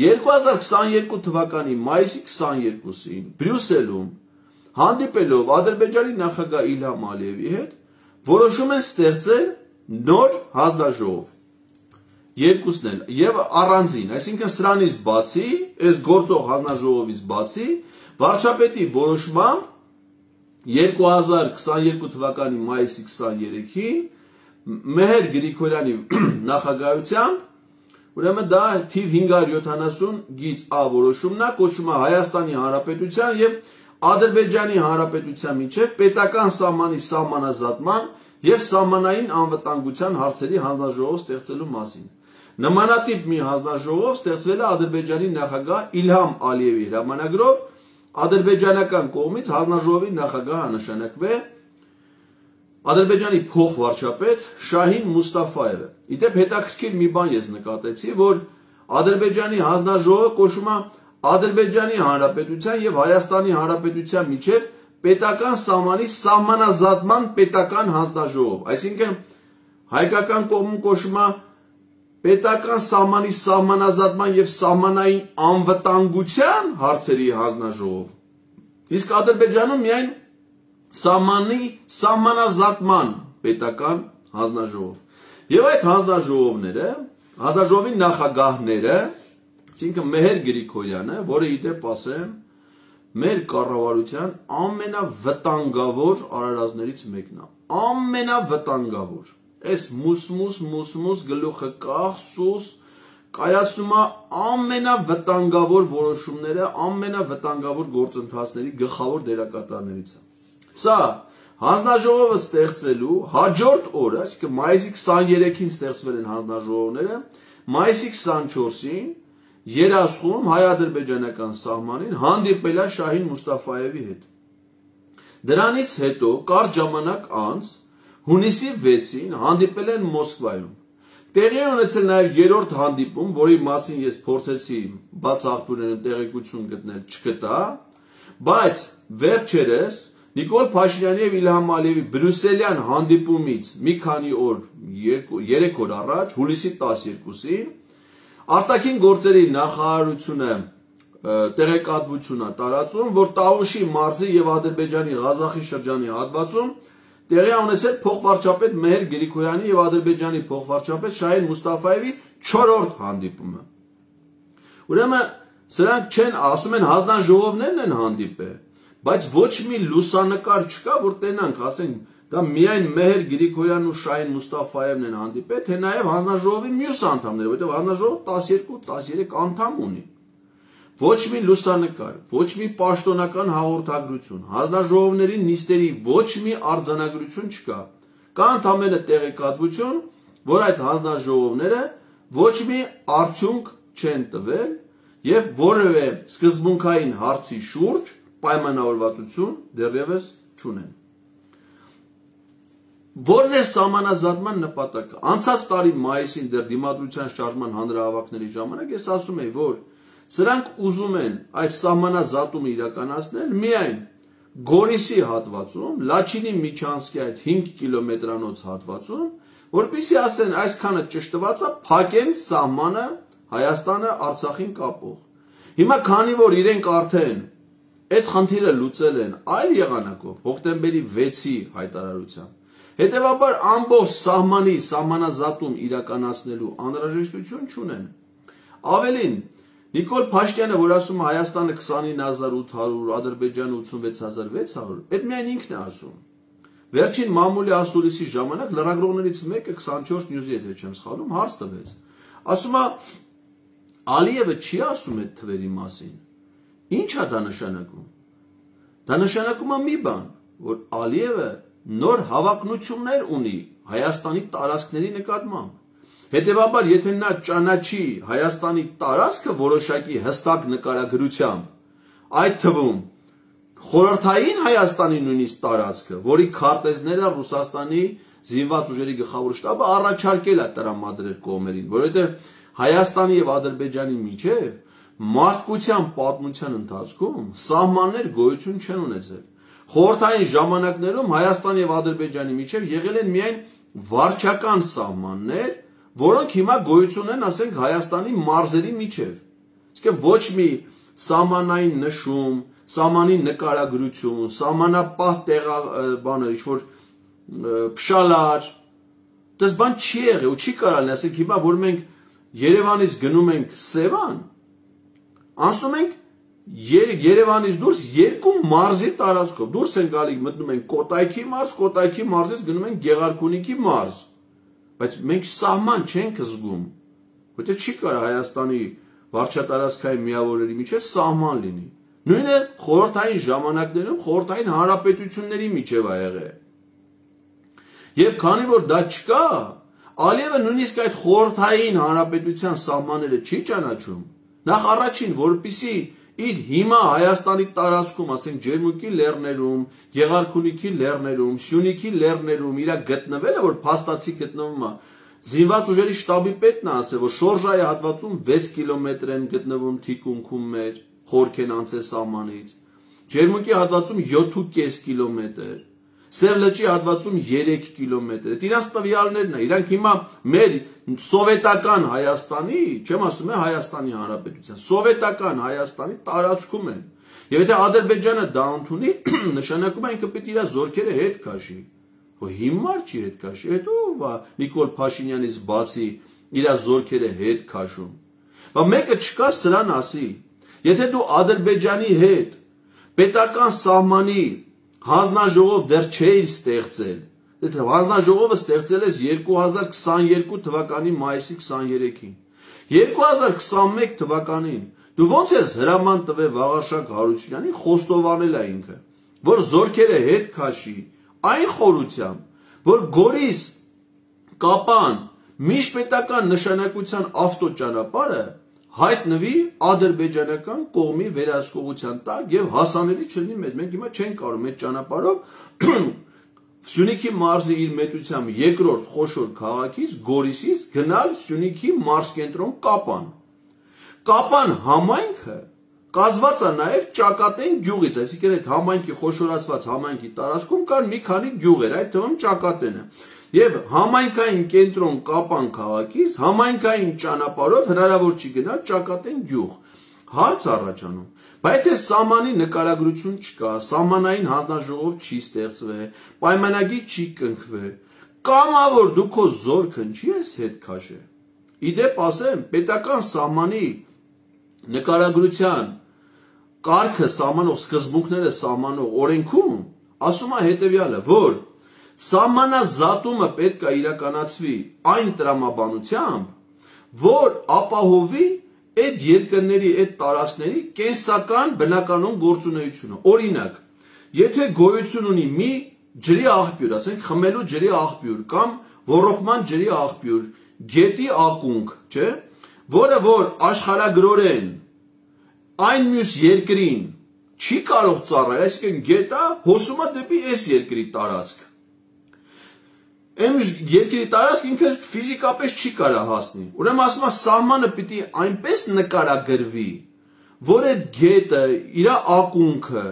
S1: 2022 թվականի մայիսի 22-ին Բրյուսելում հանդիպելով Ադրբեջանի նախագահ Իլհամ Ալիևի հետ որոշում են ստեղծել նոր հանձնաժողով։ Երկուսն էլ եւ առանձին, այսինքն սրանից բացի, այս գործող հանձնաժողովից բացի, վարչապետի որոշմամբ 2022 թվականի մայիսի 23-ին Մեհեր Գրիգորյանի նախագահությամբ ուրեմն դա թիվ 570 գիծ A որոշումն է, կոչվում է Հայաստանի Հանրապետության եւ Ադրբեջանի Հանրապետության միջև պետական սահմանի սահմանազատման եւ սահմանային անվտանգության հարցերի հանձնաժողով ստեղծելու մասին։ Նմանատիպ մի հանձնաժողով ստեղծվել է Ադրբեջանի նախագահ Իլհամ Ալիևի հրամանագրով, ադրբեջանական կողմից հանձնաժողովի նախագահը նշանակվել Ադրբեջանի փոխվարչապետ Շահին Մուստաֆայևը։ Իդեպ հետաքրքիր մի բան ես նկատեցի, որ Ադրբեջանի հանձնաժողովը կոչվում է Ադրբեջանի Հանրապետության եւ Հայաստանի Հանրապետության միջև պետական սահմանի սահմանազատման պետական հանձնաժողով, այսինքն հայկական կողմում կոչվում է պետական սահմանի սահմանազատման եւ սահմանային անվտանգության հարցերի հանձնաժողով։ Իսկ Ադրբեջանում միայն սահմանի սահմանազատման պետական հանձնաժողով։ Եվ այդ հանձնաժողովները, հանձնաժողովի նախագահները, այսինքն Մեհեր Գրիգորյանը, որը իդեպ ասեմ, մեր կառավարության ամենավտանգավոր արարածներից մեկն է, ամենավտանգավոր։ Այս մուսմուս գլուխը կախ սուս կայացնում է ամենավտանգավոր որոշումները, ամենավտանգավոր գործընթացների գլխավոր դերակատարներից է։ Սա հանձնաժողովը ստեղծելու հաջորդ օրը, այսինքն մայիսի 23-ին ստեղծվել են հանձնաժողովները, մայիսի 24-ին Երասխում հայ-ադրբեջանական սահմանին հանդիպել է Շահին Մուստաֆայևի հետ։ Դրանից հետո կարճ ժամանակ անց հունիսի 6-ին հանդիպել են Մոսկվայում։ Տեղի ունեցել նաև երրորդ հանդիպում, որի մասին ես փորձեցի բաց աղբյուրներում տեղեկություն գտնել, չգտա, բայց վերջերս Նիկոլ Փաշինյանի եւ Իլհամ Ալիևի բրյուսելյան հանդիպումից մի քանի օր, 3 օր առաջ, հուլիսի 12-ին արտաքին գործերի նախարարությունը տեղեկատվություն է տարածում, որ Տավուշի մարզի եւ Ադրբեջանի Ղազախի շրջանի հատվածում տեղի ունեցել փոխվարչապետ Մեհեր Գրիգորյանի եւ Ադրբեջանի փոխվարչապետ Շահին Մուստաֆայևի 4-րդ հանդիպումը։ Ուրեմն սրանք չեն, ասում են հանձնաժողովներն են հանդիպել, բայց ոչ մի լուսանկար չկա, որ տենանք, ասենք, դա միայն Մեհեր Գրիգորյանն ու Շահին Մուստաֆայևն են հանդիպել, թե նաև հանձնաժողովի մյուս անդամները, որտեղ հանձնաժողովը 12-13 անդամ ունի։ Ոչ մի լուսանկար, ոչ մի պաշտոնական հաղորդագրություն, հանձնաժողովների նիստերի ոչ մի արձանագրություն չկա։ Կա ընդամենը տեղեկատվություն, որ այդ հանձնաժողովները ոչ մի արդյունք չեն տվել եւ որևէ սկզբունքային հարցի շուրջ պայմանավորվածություն դեռևս չունեն։ Որն է սահմանազատման նպատակը։ Անցած տարի մայիսին դեռ դիմադրության շարժման հանրահավաքների ժամանակ ես ասում եի, որ սրանք ուզում են այդ սահմանազատումը իրականացնել միայն Գորիսի հատվածում, Լաչինի Միչանսկի այդ 5 կիլոմետրանոց հատվածում, որպեսզի ասեն այսքանը ճշտված է, փակեն սահմանը Հայաստանը Արցախին կապող։ Հիմա քանի որ իրենք արդեն այդ խնդիրը լուծել են այլ եղանակով, հոկտեմբերի 6-ի հայտարարությամբ, հետևաբար ամբողջ սահմանազատում իրականացնելու անհրաժեշտություն չունեն։ Ավելին, Նիկոլ Փաշինյանը, որ ասում է Հայաստանը 29800, Ադրբեջանը 86600, այդ միայն ինքն է ասում։ Վերջին մամուլի ասուլիսի ժամանակ լրագրողներից մեկը 24 News-ի հետ չեմ սխալում, հարց տվեց։ Ասում է Ալիևը չի ասում այդ թվերի մասին։ Ինչ է դա նշանակում։ Դա նշանակում է մի բան, որ Ալիևը նոր հավակնություններ ունի Հայաստանի տարածքների նկատմամբ։ Հետևաբար, եթե նա ճանաչի Հայաստանի տարածքը որոշակի հստակ նկարագրությամբ, այդ թվում խորհրդային Հայաստանի նույնիսկ տարածքը, որի քարտեզները Ռուսաստանի զինված ուժերի գլխավոր շտաբը առաջարկել է տրամադրել կողմերին, որովհետև Հայաստանի եւ Ադրբեջանի միջև մարդկության պատմության ընթացքում սահմաններ գոյություն չեն ունեցել։ Խորհրդային ժամանակներում Հայաստանի եւ Ադրբեջանի միջև եղել են միայն վարչական սահմաններ, որոնք հիմա գոյություն են, ասենք, Հայաստանի մարզերի միջև։ Իսկ ոչ մի սահմանային նշում, սահմանի նկարագրություն, սահմանապահ բաներ, ինչ-որ փշալար, դες բան չի եղել ու չի կարալ, ասենք, հիմա որ մենք Երևանից գնում ենք Սևան, անցնում ենք Երևանից դուրս երկու մարզի տարածքով, դուրս են գալի, մտնում ենք Կոտայքի մարզ, Կոտայքի մարզից գնում ենք Գեղարքունիքի մարզ, բայց մենք սահման չենք զգում, որտեղ չի կարող Հայաստանի վարչատարածքային միավորների միջև սահման լինի։ Նույնը խորհրդային ժամանակներում խորհրդային հանրապետությունների միջև ա եղել։ Եվ քանի որ դա չկա, Ալիևը նույնիսկ այդ խորհրդային հանրապետության սահմանները չի ճանաչում, նախ առաջին, որպեսզի իր հիմա Հայաստանի տարածքում, ասենք Ջերմուկի լեռներում, Գեղարքունիքի լեռներում, Սյունիքի լեռներում իր գտնվելը, որ փաստացի գտնվում է, զինված ուժերի շտաբի պետն է ասել, որ Շորժայի հատվածում 6 կիլոմետր են գտնվում թիկունքում մեր, խորք են անցել սահմանից, Ջերմուկի հատվածում 7.5 կիլոմետր, Սև լճի հատվածում 3 կիլոմետր, իրանց տվյալներն է, իրանք հիմա մեր սովետական Հայաստանի, չեմ ասում է Հայաստանի Հանրապետության, սովետական Հայաստանի տարածքում են, եւ եթե Ադրբեջանը դա ընդունի, նշանակում է ինքը պետք է իր զորքերը հետ քաշի, որ հիմար չի հետ քաշի, հետո Նիկոլ Փաշինյանից բացի իր զորքերը հետ քաշում, բայց մեկը չկա սրան ասի, եթե դու Ադրբեջանի հետ պետական սահմանի հանձնաժողով դեռ չէիր ստեղծել, հանձնաժողովը ստեղծել ես 2022 թվականի մայիսի 23-ին, 2021 թվականին դու ոնց ես հրաման տվել Վաղարշակ Հարությունյանին խոստովանել է ինքը, որ զորքերը հետ քաշի, այն խորությամբ, որ Գորիս Կապան միջպետական նշանակության ավտոճանապարհը հայտնվի ադրբեջանական կողմի վերահսկողության տակ եւ հասանելի չլինի մեզ։ Մենք հիմա չենք կարող այդ ճանապարհով Սյունիքի մարզի իր մեծությամբ երկրորդ խոշոր քաղաքից Գորիսից գնալ Սյունիքի մարզկենտրոն Կապան։ Կապան համայնքը կազմված է նաեւ Ճակատեն գյուղից, այսինքն այդ համայնքի խոշորացված համայնքի տարածքում կան մի քանի գյուղեր, այդ թվում Ճակատենը։ Եվ համայնքային կենտրոն Կապան քաղաքից համայնքային ճանապարհով հնարավոր չի գնալ Ճակատեն գյուղ։ Հարց առաջանում, բայց եթե սահմանի նկարագրություն չկա, սահմանային հանձնաժողով չի ստեղծվել, պայմանագիր չի կնքվել, կամա որ դու քո զորքը չի ես հետ քաշել։ Իդեպ ասեմ, պետական սահմանի նկարագրության կարգը սահմանող սկզբունքները սահմանող օրենքում ասում է հետևյալը, որ սահմանազատումը պետք է իրականացվի այն տրամաբանությամբ, որ ապահովի այդ երկրների, այդ տարածքների կենսական բնականոն գործունեությունը։ Օրինակ, եթե գոյություն ունի մի ջրի աղբյուր, ասենք խմելու ջրի աղբյուր կամ ոռոգման ջրի աղբյուր, գետի ակունք, չէ, որը որ աշխարհագրորեն այն մյուս երկրին չի կարող ծառայել, այսինքն գետը հոսում է դեպի այս երկրի տարածք։ Այն երկրի տարածք ինքը ֆիզիկապես չի կարող հասնի։ Ուրեմն ասում է սահմանը պիտի այնպես նկարագրվի, որ այդ գետը, իր ակունքը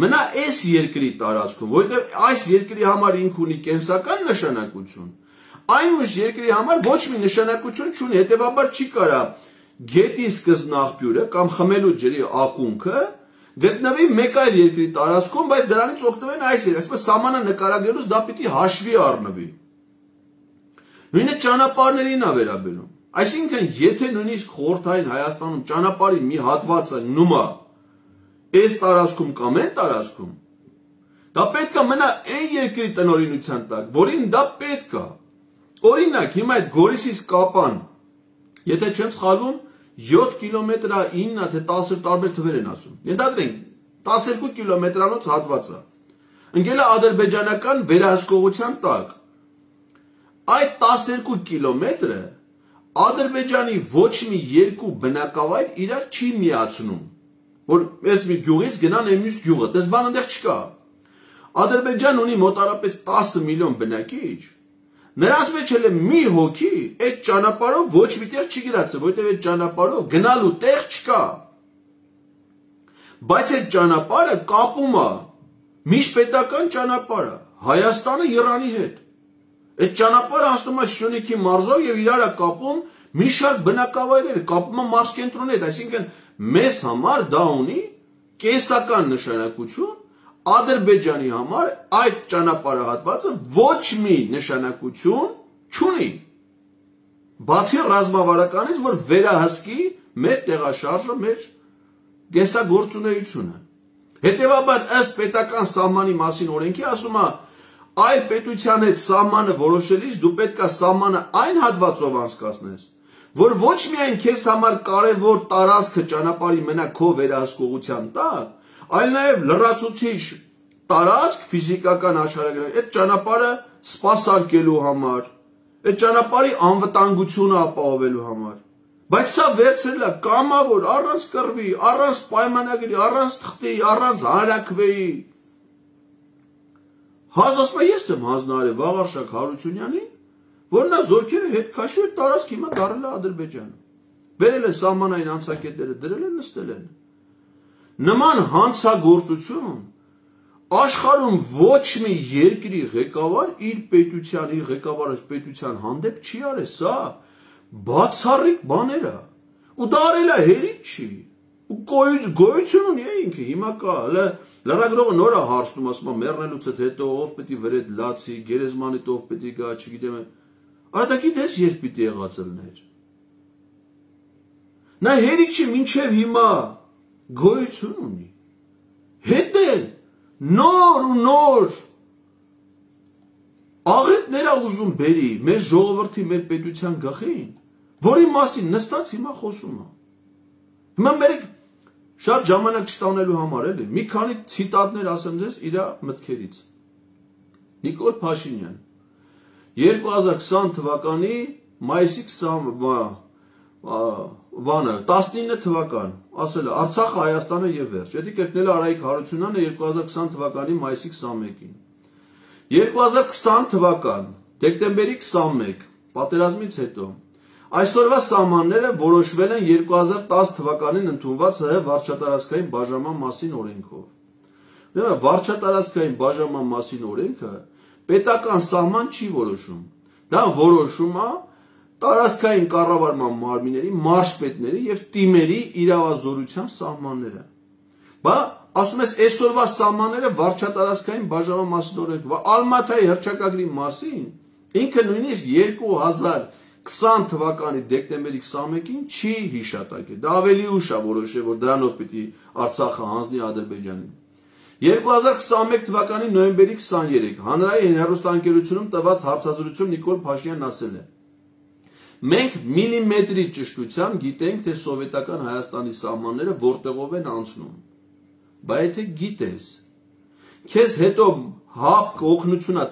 S1: մնա այս երկրի տարածքում, որովհետև այս երկրի համար ինքը ունի կենսական նշանակություն, այն մյուս երկրի համար ոչ մի նշանակություն չունի, հետևաբար չի կարող գետի սկզբնաղբյուրը կամ խմելու ջրի ակունքը գտնվի մեկ այլ երկրի տարածքում, բայց դրանից օգտվեն այս երկրը, այսպես սահմանը նկարագրելուց դա պիտի հաշվի առնվի։ Նույնը ճանապարհներին է վերաբերում։ Այսինքն, եթե նույնիսկ խորհրդային Հայաստանում ճանապարհի մի հատվածը գնում է այս տարածքում կամ այն տարածքում, դա պետք է մնա այն երկրի տնօրինության տակ, որին դա պետք է։ Օրինակ, հիմա այդ Գորիսից Կապան, եթե չեմ սխալվում, 7 կիլոմետր է, 9 թե 10 տարբեր թվեր են ասում։ Ենթադրենք 12 կիլոմետրանոց հատվածը։ Ընկել է ադրբեջանական վերահսկողության տակ։ Այդ 12 կիլոմետրը Ադրբեջանի ոչ մի երկու բնակավայր իրար չի միացնում, որ այս մի գյուղից գնան այն մյուս գյուղը, դες բան այնտեղ չկա։ Ադրբեջանն ունի մոտարապես 10 միլիոն բնակիչ, նրանց մեջ էլ մի հոգի այդ ճանապարհով ոչ մի տեղ չի գնացել, որովհետև այդ ճանապարհով գնալու տեղ չկա։ Բայց այդ ճանապարհը կապում է միջպետական ճանապարհը Հայաստանը Իրանի հետ։ Այդ ճանապարհը հասնում է Սյունիքի մարզով եւ իրար է կապում մի շարք բնակավայրեր, կապում է մարզկենտրոնի հետ, այսինքն մեզ համար դա ունի կեսական նշանակություն, Ադրբեջանի համար այդ ճանապարհահատվածը ոչ մի նշանակություն չունի։ Բացի ռազմավարականից, որ վերահսկի մեր տեղաշարժը, մեր կեսագործունեությունը։ Հետևաբար ըստ պետական սահմանի մասին օրենքի ասում է այլ պետության հետ սահմանը որոշելիս դու պետք է սահմանը այն հատվածով անցկացնես, որ ոչ միայն քեզ համար կարևոր տարածքը ճանապարհի մնա քո վերահսկողության տակ, այլ նաև լրացուցիչ տարածք ֆիզիկական աշխարհագրական այդ ճանապարհը սպասարկելու համար, այդ ճանապարհի անվտանգությունը ապահովելու համար։ Բայց սա վերցրել է կամավոր, առանց կռվի, առանց պայմանագրի, առանց թղթի, առանց հանրաքվեի։ Ասում եմ, ես եմ հանձնարարել Վաղարշակ Հարությունյանին, որ նա զորքերը հետ քաշի այդ տարածք հիմա դառել է Ադրբեջանը։ Վերել են սահմանային անցակետերը, դրել են, նստել են։ Նման հանցագործություն աշխարհում ոչ մի երկրի ղեկավար իր պետության, իր ղեկավարած պետության հանդեպ չի արել, սա բացառիկ բաներ է։ Ու դա արել է հերիք չի։ Ու գոյություն ունի ինքը, հիմա կա, լրագրողը նոր է հարցնում, ասում է մեռնելուց հետո ով պետք է վրեդ լացի, գերեզմանիդ ով պետք է գա, չգիտեմ։ Այդ գիտես երբ պիտի եղած լիներ։ Նա հերիք չի մինչև հիմա գոյություն ունի։ Հետ է նոր ու նոր աղետներ է ուզում բերի մեր ժողովրդի, մեր պետության գլխին, որի մասին նստած հիմա խոսում է։ Հիմա մեր շատ ժամանակ չտանելու համար էլի, մի քանի ցիտատներ ասեմ ձեզ իր մտքերից։ Նիկոլ Փաշինյան 2020 թվականի մայիսի 19 թվական, ասել է Արցախը, Հայաստանը եւ վերջ։ Դա կրկնել է Արայիկ Հարությունյանը 2020 թվականի մայիսի 21-ին։ 2020 թվական, դեկտեմբերի 21, պատերազմից հետո, այսօրվա սահմանները որոշվել են 2010 թվականին ընդունված ՀՀ վարչատարածքային բաժանման մասին օրենքով։ Վարչատարածքային բաժանման մասին օրենքը պետական սահման չի որոշում։ Դա որոշում է տարածքային կառավարման մարմինների, մարզպետների եւ թիմերի իրավազորության սահմանները։ Բա ասում ես այսօրվա սահմանները վարչատարածքային բաժանման մասին օրենքով, Ալմաթայի հռչակագրի մասին ինքը նույնիսկ 2020 թվականի դեկտեմբերի 21-ին չի հիշատակել։ Դա ավելի ուշ է որոշել, որ դրանով պիտի Արցախը հանձնի Ադրբեջանին։ 2021 թվականի նոյեմբերի 23 հանրային հեռուստաընկերությունում տված հարցազրույցում Նիկոլ Փաշինյանն ասել է. Մենք միլիմետրի ճշտությամբ գիտենք, թե սովետական Հայաստանի սահմանները որտեղով են անցնում։ Բայց եթե գիտես, քեզ հետո հապկ օգնություն է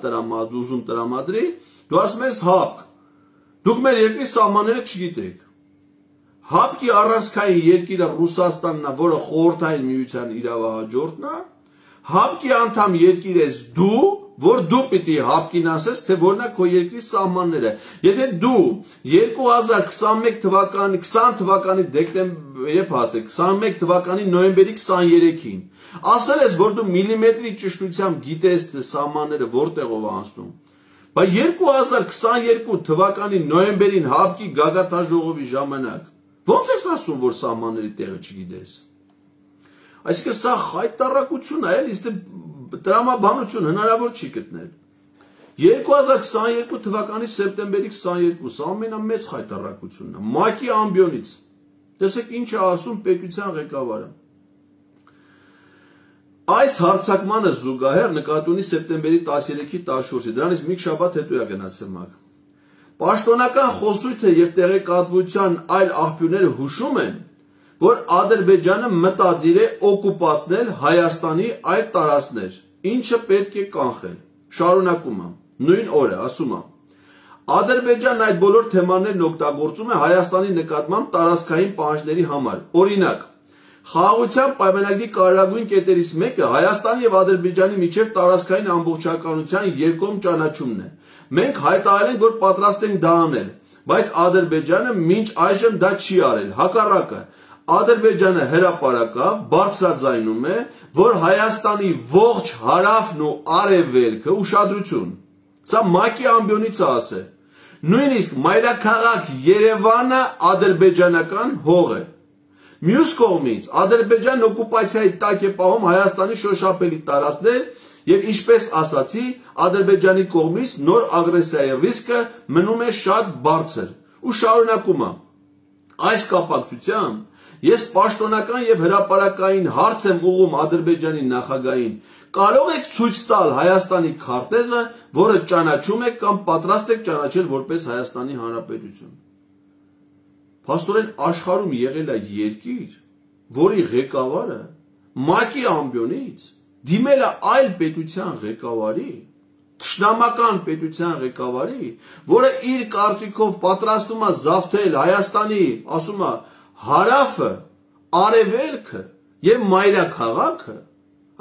S1: ուզում տրամադրի, դու ասում ես հապկ։ Դուք մեր երկրի սահմանները չգիտեք։ Հապկի առանցքային երկիրը Ռուսաստանն է, որը խորհրդային միության իրավահաջորդն է, հապկի անդամ երկիր ես դու, որ դու պիտի հապկին ասես, թե որն է քո երկրի սահմանները։ Եթե դու 2021 թվականի 20 թվականի դեկտեմբեր, երբ ասեք, 21 թվականի նոյեմբերի 23-ին ասել ես, որ դու միլիմետրի ճշտությամբ գիտես, թե սահմանները որտեղով անցնում, բայց 2022 թվականի նոյեմբերին հապկի գագաթնաժողովի ժամանակ ո՞նց ես ասում, որ սահմանների տեղը չգիտես։ Այսինքն սա խայտարակություն է, էլի, տրամաբանություն հնարավոր չի գտնել։ 2022 թվականի սեպտեմբերի 22-ը ամենամեծ խայտառակությունն է ՄԱԿ-ի ամբիոնից։ Տեսեք ինչ է ասում պետության ղեկավարը։ Այս հարձակմանը զուգահեռ նկատի ունի սեպտեմբերի 13-ի 14-ի, դրանից մի շաբաթ հետո է գնացել ՄԱԿ։ Պաշտոնական խոսույթը եւ տեղեկատվության այլ աղբյուրները հուշում են, որ Ադրբեջանը մտադիր է օկուպացնել Հայաստանի այդ տարածքներ, ինչը պետք է կանխել։ Շարունակում եմ, նույն օրը ասում եմ. Ադրբեջանն այդ բոլոր թեմաներն օգտագործում է Հայաստանի նկատմամբ տարածքային պահանջների համար։ Օրինակ, խաղաղության պայմանագրի կարևորագույն կետերից մեկը Հայաստանի եւ Ադրբեջանի միջև տարածքային ամբողջականության երկկողմ ճանաչումն է։ Մենք հայտարարել ենք, որ պատրաստ ենք դա անել, բայց Ադրբեջանը մինչ այժմ դա չի արել։ Հակառակը, Ադրբեջանը հրապարակավ բարձրաձայնում է, որ Հայաստանի ողջ հարավն ու արևելքը ուշադրություն։ Սա ՄԱԿ-ի ամբիոնից է ասել։ Նույնիսկ մայրաքաղաք Երևանը ադրբեջանական հող է։ Մյուս կողմից Ադրբեջանն օկուպացիայի տակ է պահում Հայաստանի շոշափելի տարածքներ եւ ինչպես ասացի, Ադրբեջանի կողմից նոր ագրեսիայի ռիսկը մնում է շատ բարձր։ Ու շարունակում եմ. այս կապակցությամբ ես պաշտոնական եւ հրապարակային հարց եմ ուղղում Ադրբեջանի նախագահին. կարող եք ցույց տալ Հայաստանի քարտեզը, որը ճանաչում եք կամ պատրաստ եք ճանաչել որպես Հայաստանի Հանրապետություն։ Փաստորեն աշխարհում եղել է երկիր, որի ղեկավարը ՄԱԿ-ի ամբիոնից դիմել է այլ պետության ղեկավարի, թշնամական պետության ղեկավարի, որը իր կարծիքով պատրաստում է զավթել Հայաստանի, ասում է, հարավը, արևելքը եւ մայրաքաղաքը,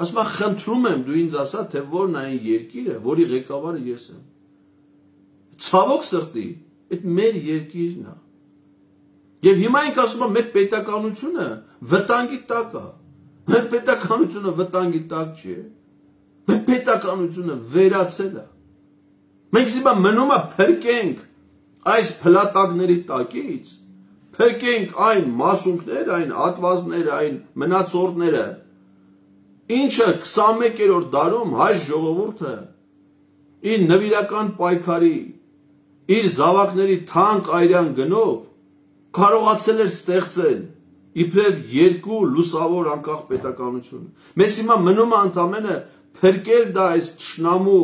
S1: ասում է, խնդրում եմ դու ինձ ասա, թե որն է այն երկիրը, որի ղեկավարը ես եմ։ Ցավոք սրտի, այդ մեր երկիրն է։ Եվ հիմա ենք ասում եմ, մեր պետականությունը վտանգի տակ է։ Մեր պետականությունը վտանգի տակ չի։ Մեր պետականությունը վերացել է։ Մենք հիմա մնում է փրկենք այս փլատակների տակից, փրկենք այն մասունքները, այն ատվազները, այն մնացորդները, ինչը 21-րդ դարում հայ ժողովուրդը իր նվիրական պայքարի, իր զավակների թանկ այրան գնով կարողացել էր ստեղծել իբրև երկու լուսավոր անկախ պետականություն։ Մեզ հիմա մնում է ընդամենը փրկել դա այս թշնամու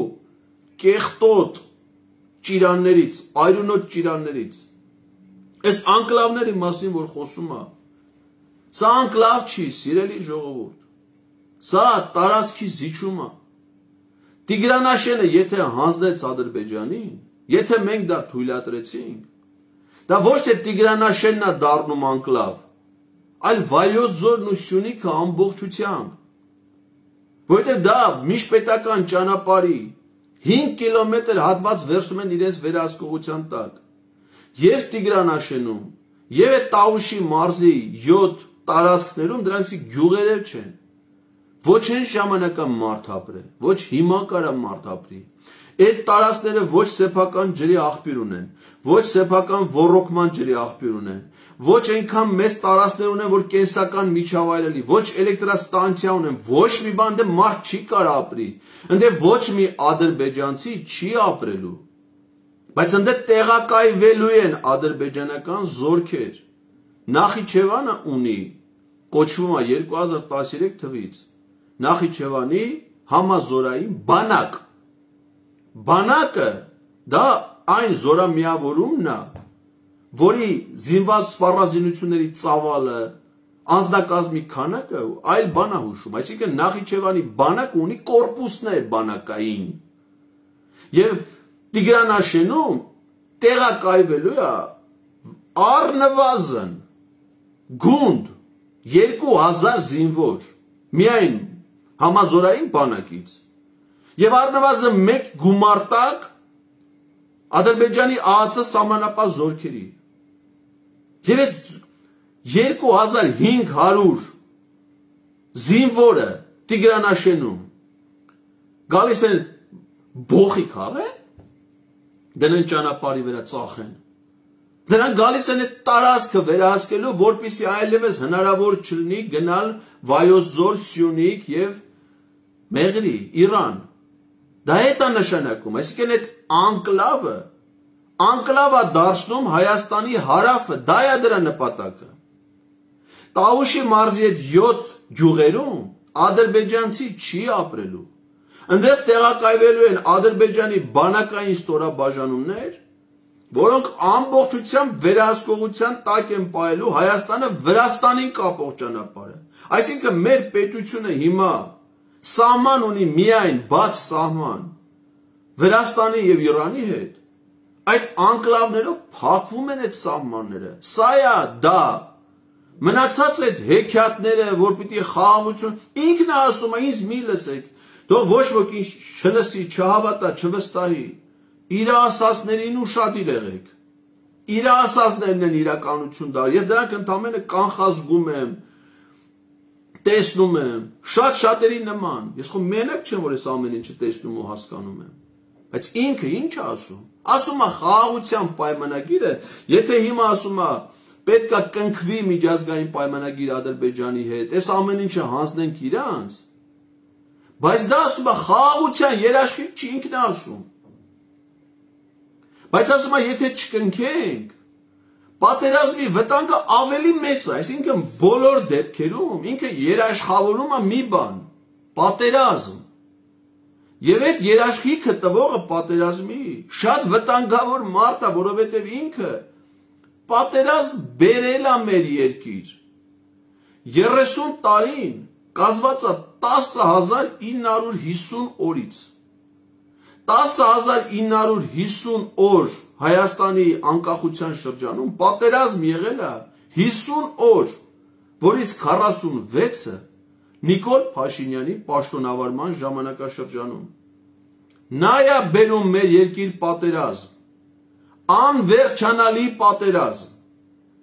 S1: կեղտոտ ճիրաններից, այրունոտ ճիրաններից։ Այս անկլավների մասին, որ խոսում է, սա անկլավ չի, սիրելի ժողովուրդ։ Սա տարածքի զիջում է։ Տիգրանաշենը եթե հանձնեց Ադրբեջանին, եթե մենք դա թույլատրեցինք, դա ոչ թե Տիգրանաշենն է դառնում անկլավ, այլ Վայոց ձորն ու Սյունիքը ամբողջությամբ, որովհետև դա միջպետական ճանապարհի 5 կիլոմետր հատված վերցնում են իրենց վերահսկողության տակ, եւ Տիգրանաշենում, եւ Տավուշի մարզի 7 տարածքներում դրանցի գյուղերել չեն, ոչ այն ժամանակա մարդ ապրե, ոչ հիմա կարա մարդ ապրի։ Այդ տարածքները ոչ սեփական ջրի աղբյուր ունեն, ոչ սեփական ոռոգման ջրի աղբյուր ունեն, ոչ այնքան մեծ տարածքներ ունեն, որ կենսական միջավայրելի, ոչ էլեկտրաստանցիա ունեն, ոչ մի բան դե մարդ չի կարող ապրի, ընդ ոչ մի ադրբեջանցի չի ապրելու, բայց ընդ տեղակայվելու են ադրբեջանական զորքեր։ Նախիջևանը ունի, կոչվում է 2013 թվականից, Նախիջևանի համազորային բանակ։ Բանակը դա այն զորամիավորումն է, որի զինված սպառազինությունների ծավալը, անձնակազմի քանակը այլ բան է հուշում, այսինքն Նախիջևանի բանակը ունի կորպուսներ բանակային։ Եվ Տիգրանաշենում տեղակայվելու է առնվազն գունդ 2000 զինվոր, միայն համազորային բանակից, եւ առնվազն մեկ գումարտակ Ադրբեջանի ԱԱՑ սահմանապահ զորքերի։ Եվ այդ 2500 զինվորը Տիգրանաշենում գալիս են բոխի քաղեն, դնեն ճանապարհի վրա ծախեն։ Դրանք գալիս են այդ տարածքը վերահսկելու, որպեսզի այլևս հնարավոր չլինի գնալ Վայոց ձոր, Սյունիք եւ Մեղրի, Իրան։ Դա հետ է նշանակում, այսինքն այդ անկլավը դարձնում Հայաստանի հարավը, դա է դրա նպատակը։ Տավուշի մարզի այդ 7 գյուղերում ադրբեջանցի չի ապրելու։ Այնտեղ տեղակայվելու են Ադրբեջանի բանակային ստորաբաժանումներ, որոնք ամբողջությամբ վերահսկողության տակ են պահելու Հայաստանը Վրաստանին կապող ճանապարհը։ Այսինքն մեր պետությունը հիմա սահման ունի միայն բաց սահման Վրաստանի եւ Իրանի հետ, այդ անկլավներով փակվում են այդ սահմանները։ Սա է դա։ Մնացած այդ հեքիաթները, որ պիտի խաղաղություն, ինքն է ասում, ինձ մի լսեք, թող ոչ ոք ինձ չլսի, չհավատա, չվստահի։ Իր ասածներին ուշադիր եղեք։ Իր ասածներն են իրականություն դա։ Ես դրանք ընդամենը կանխազգում եմ, տեսնում եմ, շատ-շատերի նման։ Ես խո մենակ չեմ, որ ես ամեն ինչը տեսնում ու հասկանում եմ։ Բայց ինքը ինչ է ասում։ Ասում է խաղաղության պայմանագիրը, եթե հիմա ասում է պետք է կնքվի միջազգային պայմանագիր Ադրբեջանի հետ, այս ամեն ինչը հանձնենք իրանց, բայց դա ասում է խաղաղության երաշխիք չի, ինքն է ասում։ Բայց ասում է եթե չկնքենք, պատերազմի վտանգը ավելի մեծ է, այսինքն բոլոր դեպքերում ինքը երաշխավորում է մի բան, պատերազմ։ Եվ այդ երաշխիքը տվողը պատերազմի շատ վտանգավոր մարդ է, որովհետև ինքը պատերազմ բերել է մեր երկիր։ 30 տարին կազմված է 10,950 օրից։ 10,950 օր Հայաստանի անկախության շրջանում պատերազմ եղել է 50 օր, որից 46-ը Նիկոլ Փաշինյանի պաշտոնավարման ժամանակաշրջանում։ Նա է բերում մեր երկիր պատերազմ, անվերջանալի պատերազմ,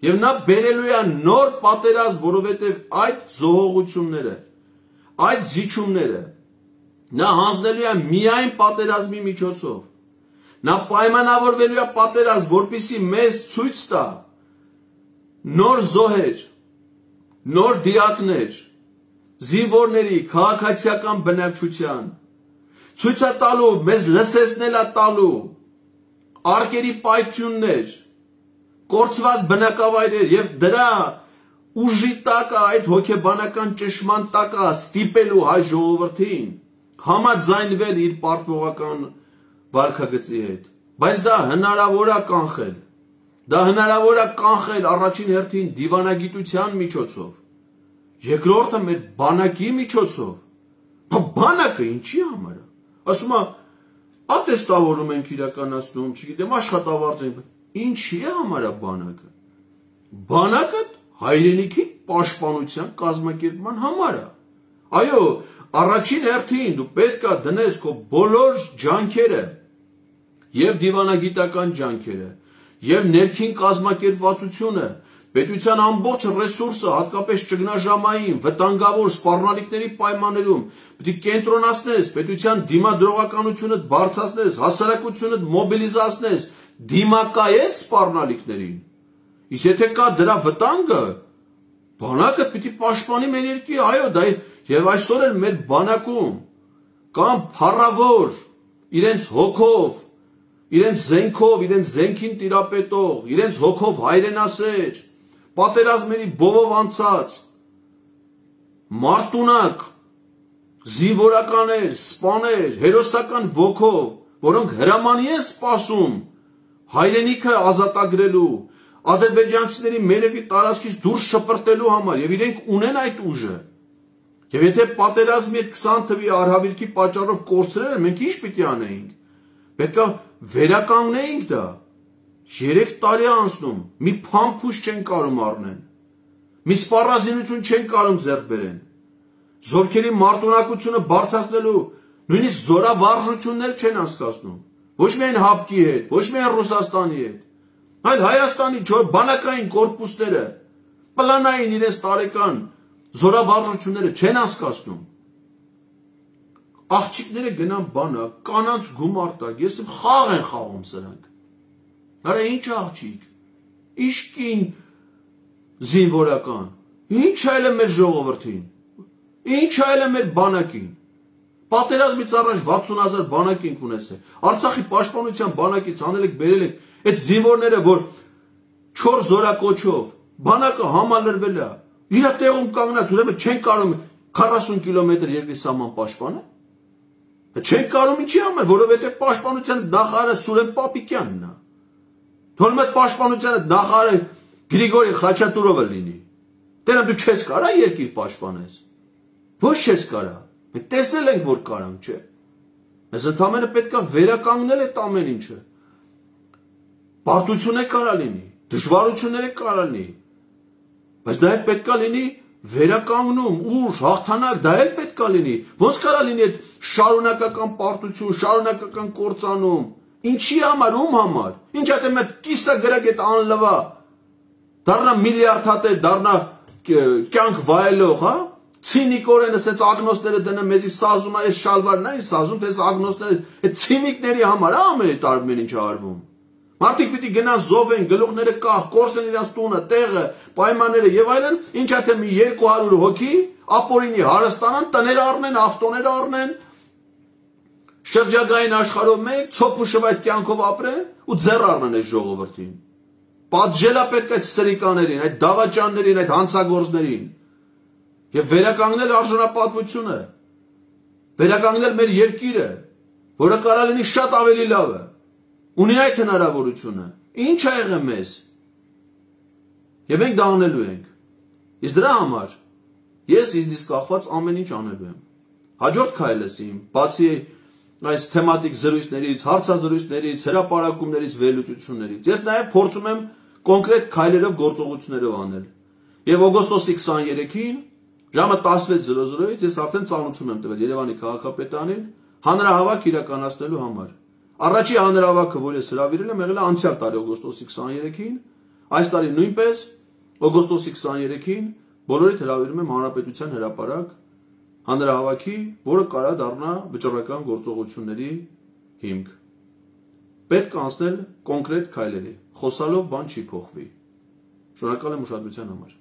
S1: եւ նա բերելու է նոր պատերազմ, որովհետեւ այդ զոհողությունները, այդ զիջումները նա հանձնելու է միայն պատերազմի միջոցով։ Նա պայմանավորվելու է պատերազմ, որպեսզի մեզ ցույց տա նոր զոհեր, նոր դիակներ, զինվորների քաղաքացիական բնակչության, ցույց է տալու, մեզ լսեցնել է տալու արկերի պայթյուններ, կորցված բնակավայրեր եւ դրա ուժի տակը այդ հոգեբանական ճշմարտ տակը ստիպելու հայ ժողովրդին համաձայնվել իր պարտվողական վարքագծի հետ։ Բայց դա հնարավոր է կանխել։ Դա հնարավոր է կանխել առաջին հերթին դիվանագիտության միջոցով։ Երկրորդը մեր բանակի միջոցով։ Բանակը ինչի համար է։ Ասում է, ատեստավորում ենք իրականացնում, չգիտեմ, աշխատավարձ ենք։ Ինչի է համար է բանակը։ Բանակը հայրենիքի պաշտպանության կազմակերպման համար է։ Այո, առաջին հերթին դու պետք է դնես քո բոլոր ջանքերը եւ դիվանագիտական ջանքերը եւ ներքին կազմակերպվածությունը, պետության ամբողջ ռեսուրսը, հատկապես ճգնաժամային, վտանգավոր սպառնալիքների պայմաններում պետք է կենտրոնացնես, պետության դիմադրողականությունը բարձրացնես, հասարակությունը մոբիլիզացնես, դիմակայես սպառնալիքներին։ Իսկ եթե կա դրա վտանգը, բանակը պետք է պաշտպանի մեր երկիրը, այո, դա եւ այսօր էլ մեր բանակում կամ փառավոր իրենց հոգով, իրենց զենքով, իրենց զենքին տիրապետող, իրենց հոգով հայրենասեր, պատերազմների բովով անցած, մարտունակ, զինվորականներ, սպաներ, հերոսական ոգով, որոնք հրամանի են սպասում հայրենիքը ազատագրելու, ադրբեջանցիների մերևի տարածքից դուրս շպրտելու համար, եւ իրենք ունեն այդ ուժը։ Եվ եթե պատերազմի այդ 20 թվի արհավիրքի պատճառով կորցրել, մենք ինչ պիտի անեինք։ Պետք է վերականգնեինք դա։ 3 տարի անցնում, մի փամփուշ չեն կարում առնեն, մի սպառազինություն չեն կարում ձեռք բերեն, զորքերի մարտունակությունը բարձրացնելու նույնիսկ զորավարժություններ չեն անցկացնում, ոչ միայն ՀԱՊԿ-ի հետ, ոչ միայն Ռուսաստանի հետ, այլ Հայաստանի բանակային կորպուսները, պլանային իրենց տարեկան զորավարժությունները չեն անցկացնում։ Աղջիկները գնան բանակ, կանանց գումար տակ, ես խաղ են խաղում սրանք։ Արա ինչ աղջիկ, ինչ կին զինվորական, ինչ այլ է մեր ժողովրդին, ինչ այլ է մեր բանակին, Պատերազմից առաջ 60,000 բանակ ենք ունեցել։ Արցախի պաշտպանության բանակից անել եք բերել եք այդ զինվորները, որ 4 զորակոչով բանակը համալրվել է։ Իր տեղում կանգնած, ուրեմն չեն կարող 40 կիլոմետր երկրի սահման պաշտպանել։ Չեն կարող ինչի համար, որովհետև պաշտպանության նախարարը Սուրեն Պապիկյանն է։ Թողնում այդ պաշտպանության նախարարը Գրիգորի Խաչատուրովը լինի։ Դեռ դու չես կարա երկիր պաշտպանես։ Ոչ չես կարա։ Մենք տեսել ենք, որ կարանք, չէ։ Մեզ ընդամենը պետք է վերականգնել այդ ամեն ինչը։ Պարտություն է կարա լինի, դժվարություններ է կարա լինի, բայց դա պետք է լինի վերականգնում, ուժ, հաղթանակ, դա էլ պետք է լինի։ Ոնց կարա լինի այդ շարունակական պարտություն, շարունակական կործանում։ Ինչի համար, ում համար։ Ինչ այդ մեծ կիսա գրակ այդ անլվա։ Դառնա միլիարդատեր, դառնա կյանք վայելող, հա։ Ցինիկորեն ասած ագնոստները դնը մեզի սազում է, այս շալվարն է սազում, թե ագնոստները, այդ ցինիկների համար է ամեն այդ տարբեր ինչը արվում։ Մարդիկ պիտի գնան զոհվեն, գլուխները կախ, կորսեն իրաց տունը, տեղը, պայմանները եւ այլն, ինչա թե մի 200 հոգի ապօրինի հարստանան, տներ առնեն, ավտոներ առնեն, շրջագային աշխարհով մեկ ցոփուշով այդ կյանքով ապրեն ու ձեռ առնեն այս ժողովրդին։ Պատժելա պետք է այդ սրիկաներին, այդ դավաճաններին, այդ հանցագործներին եւ վերականգնել արժանապատվությունը, վերականգնել մեր երկիրը, որը կարա լինի շատ ավելի լավը։ Ունի այդ հնարավորությունը։ Ինչ ա եղել մեզ։ Եվ մենք դա անելու ենք։ Իսկ դրա համար ես ինձնից կախված ամեն ինչ անելու եմ։ Հաջորդ քայլս իմ, բացի այս թեմատիկ զրույցներից, հարցազրույցներից, հրապարակումներից, վերլուծություններից, ես նաև փորձում եմ կոնկրետ քայլերով գործողություններով անել։ Եվ օգոստոսի 23-ին ժամը 16:00-ից ես արդեն ծանոթություն եմ տվել Երևանի քաղաքապետարանին հանրահավաք իրականացնելու համար։ Առաջի հանրահավաքը, որ ես հրավիրել եմ, եղել է անցյալ տարի օգոստոսի 23-ին, այս տարի նույնպես օգոստոսի 23-ին բոլորիդ հրավիրում եմ հանրապետության հրապարակ հանրահավաքի, որը կարա դառնա վճռական գործողությունների հիմք։ Պետք է անցնել կոնկրետ քայլերի, խոսալով բան չի փոխվի։ Շնորհակալ եմ ուշադրության համար։